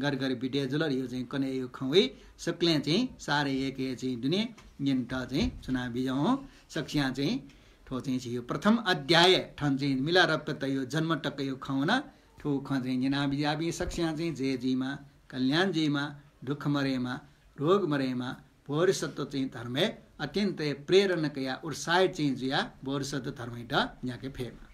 गरगर बिते जुल, यो चाहिँ कन्हय्‌यो खँ वइ। सकलें चाहिँ सारे एकया चाहिँ दुने न्यनेत चाहिँ च्वना बिज्याहुँ। सकसियां चाहिँ थ्व चाहिँ झीयो प्रथम अध्याय थन चाहिँ मिलारेपायायो जन्म तकयो खँ वन। थ्व खँ चाहिँ न्यना बिज्याःपिं सकसियां चाहिँ जय जुइमा, कल्याण जुइमा, दुःख मदयेमा, रोग मदयेमा, बोधिसत्व चाहिँ धर्मय् अत्यन्तय् प्रेरणा कयाः उत्साहित चाहिँ जुयाः बोधिसत्व धर्मयात न्ह्याके फयेमा।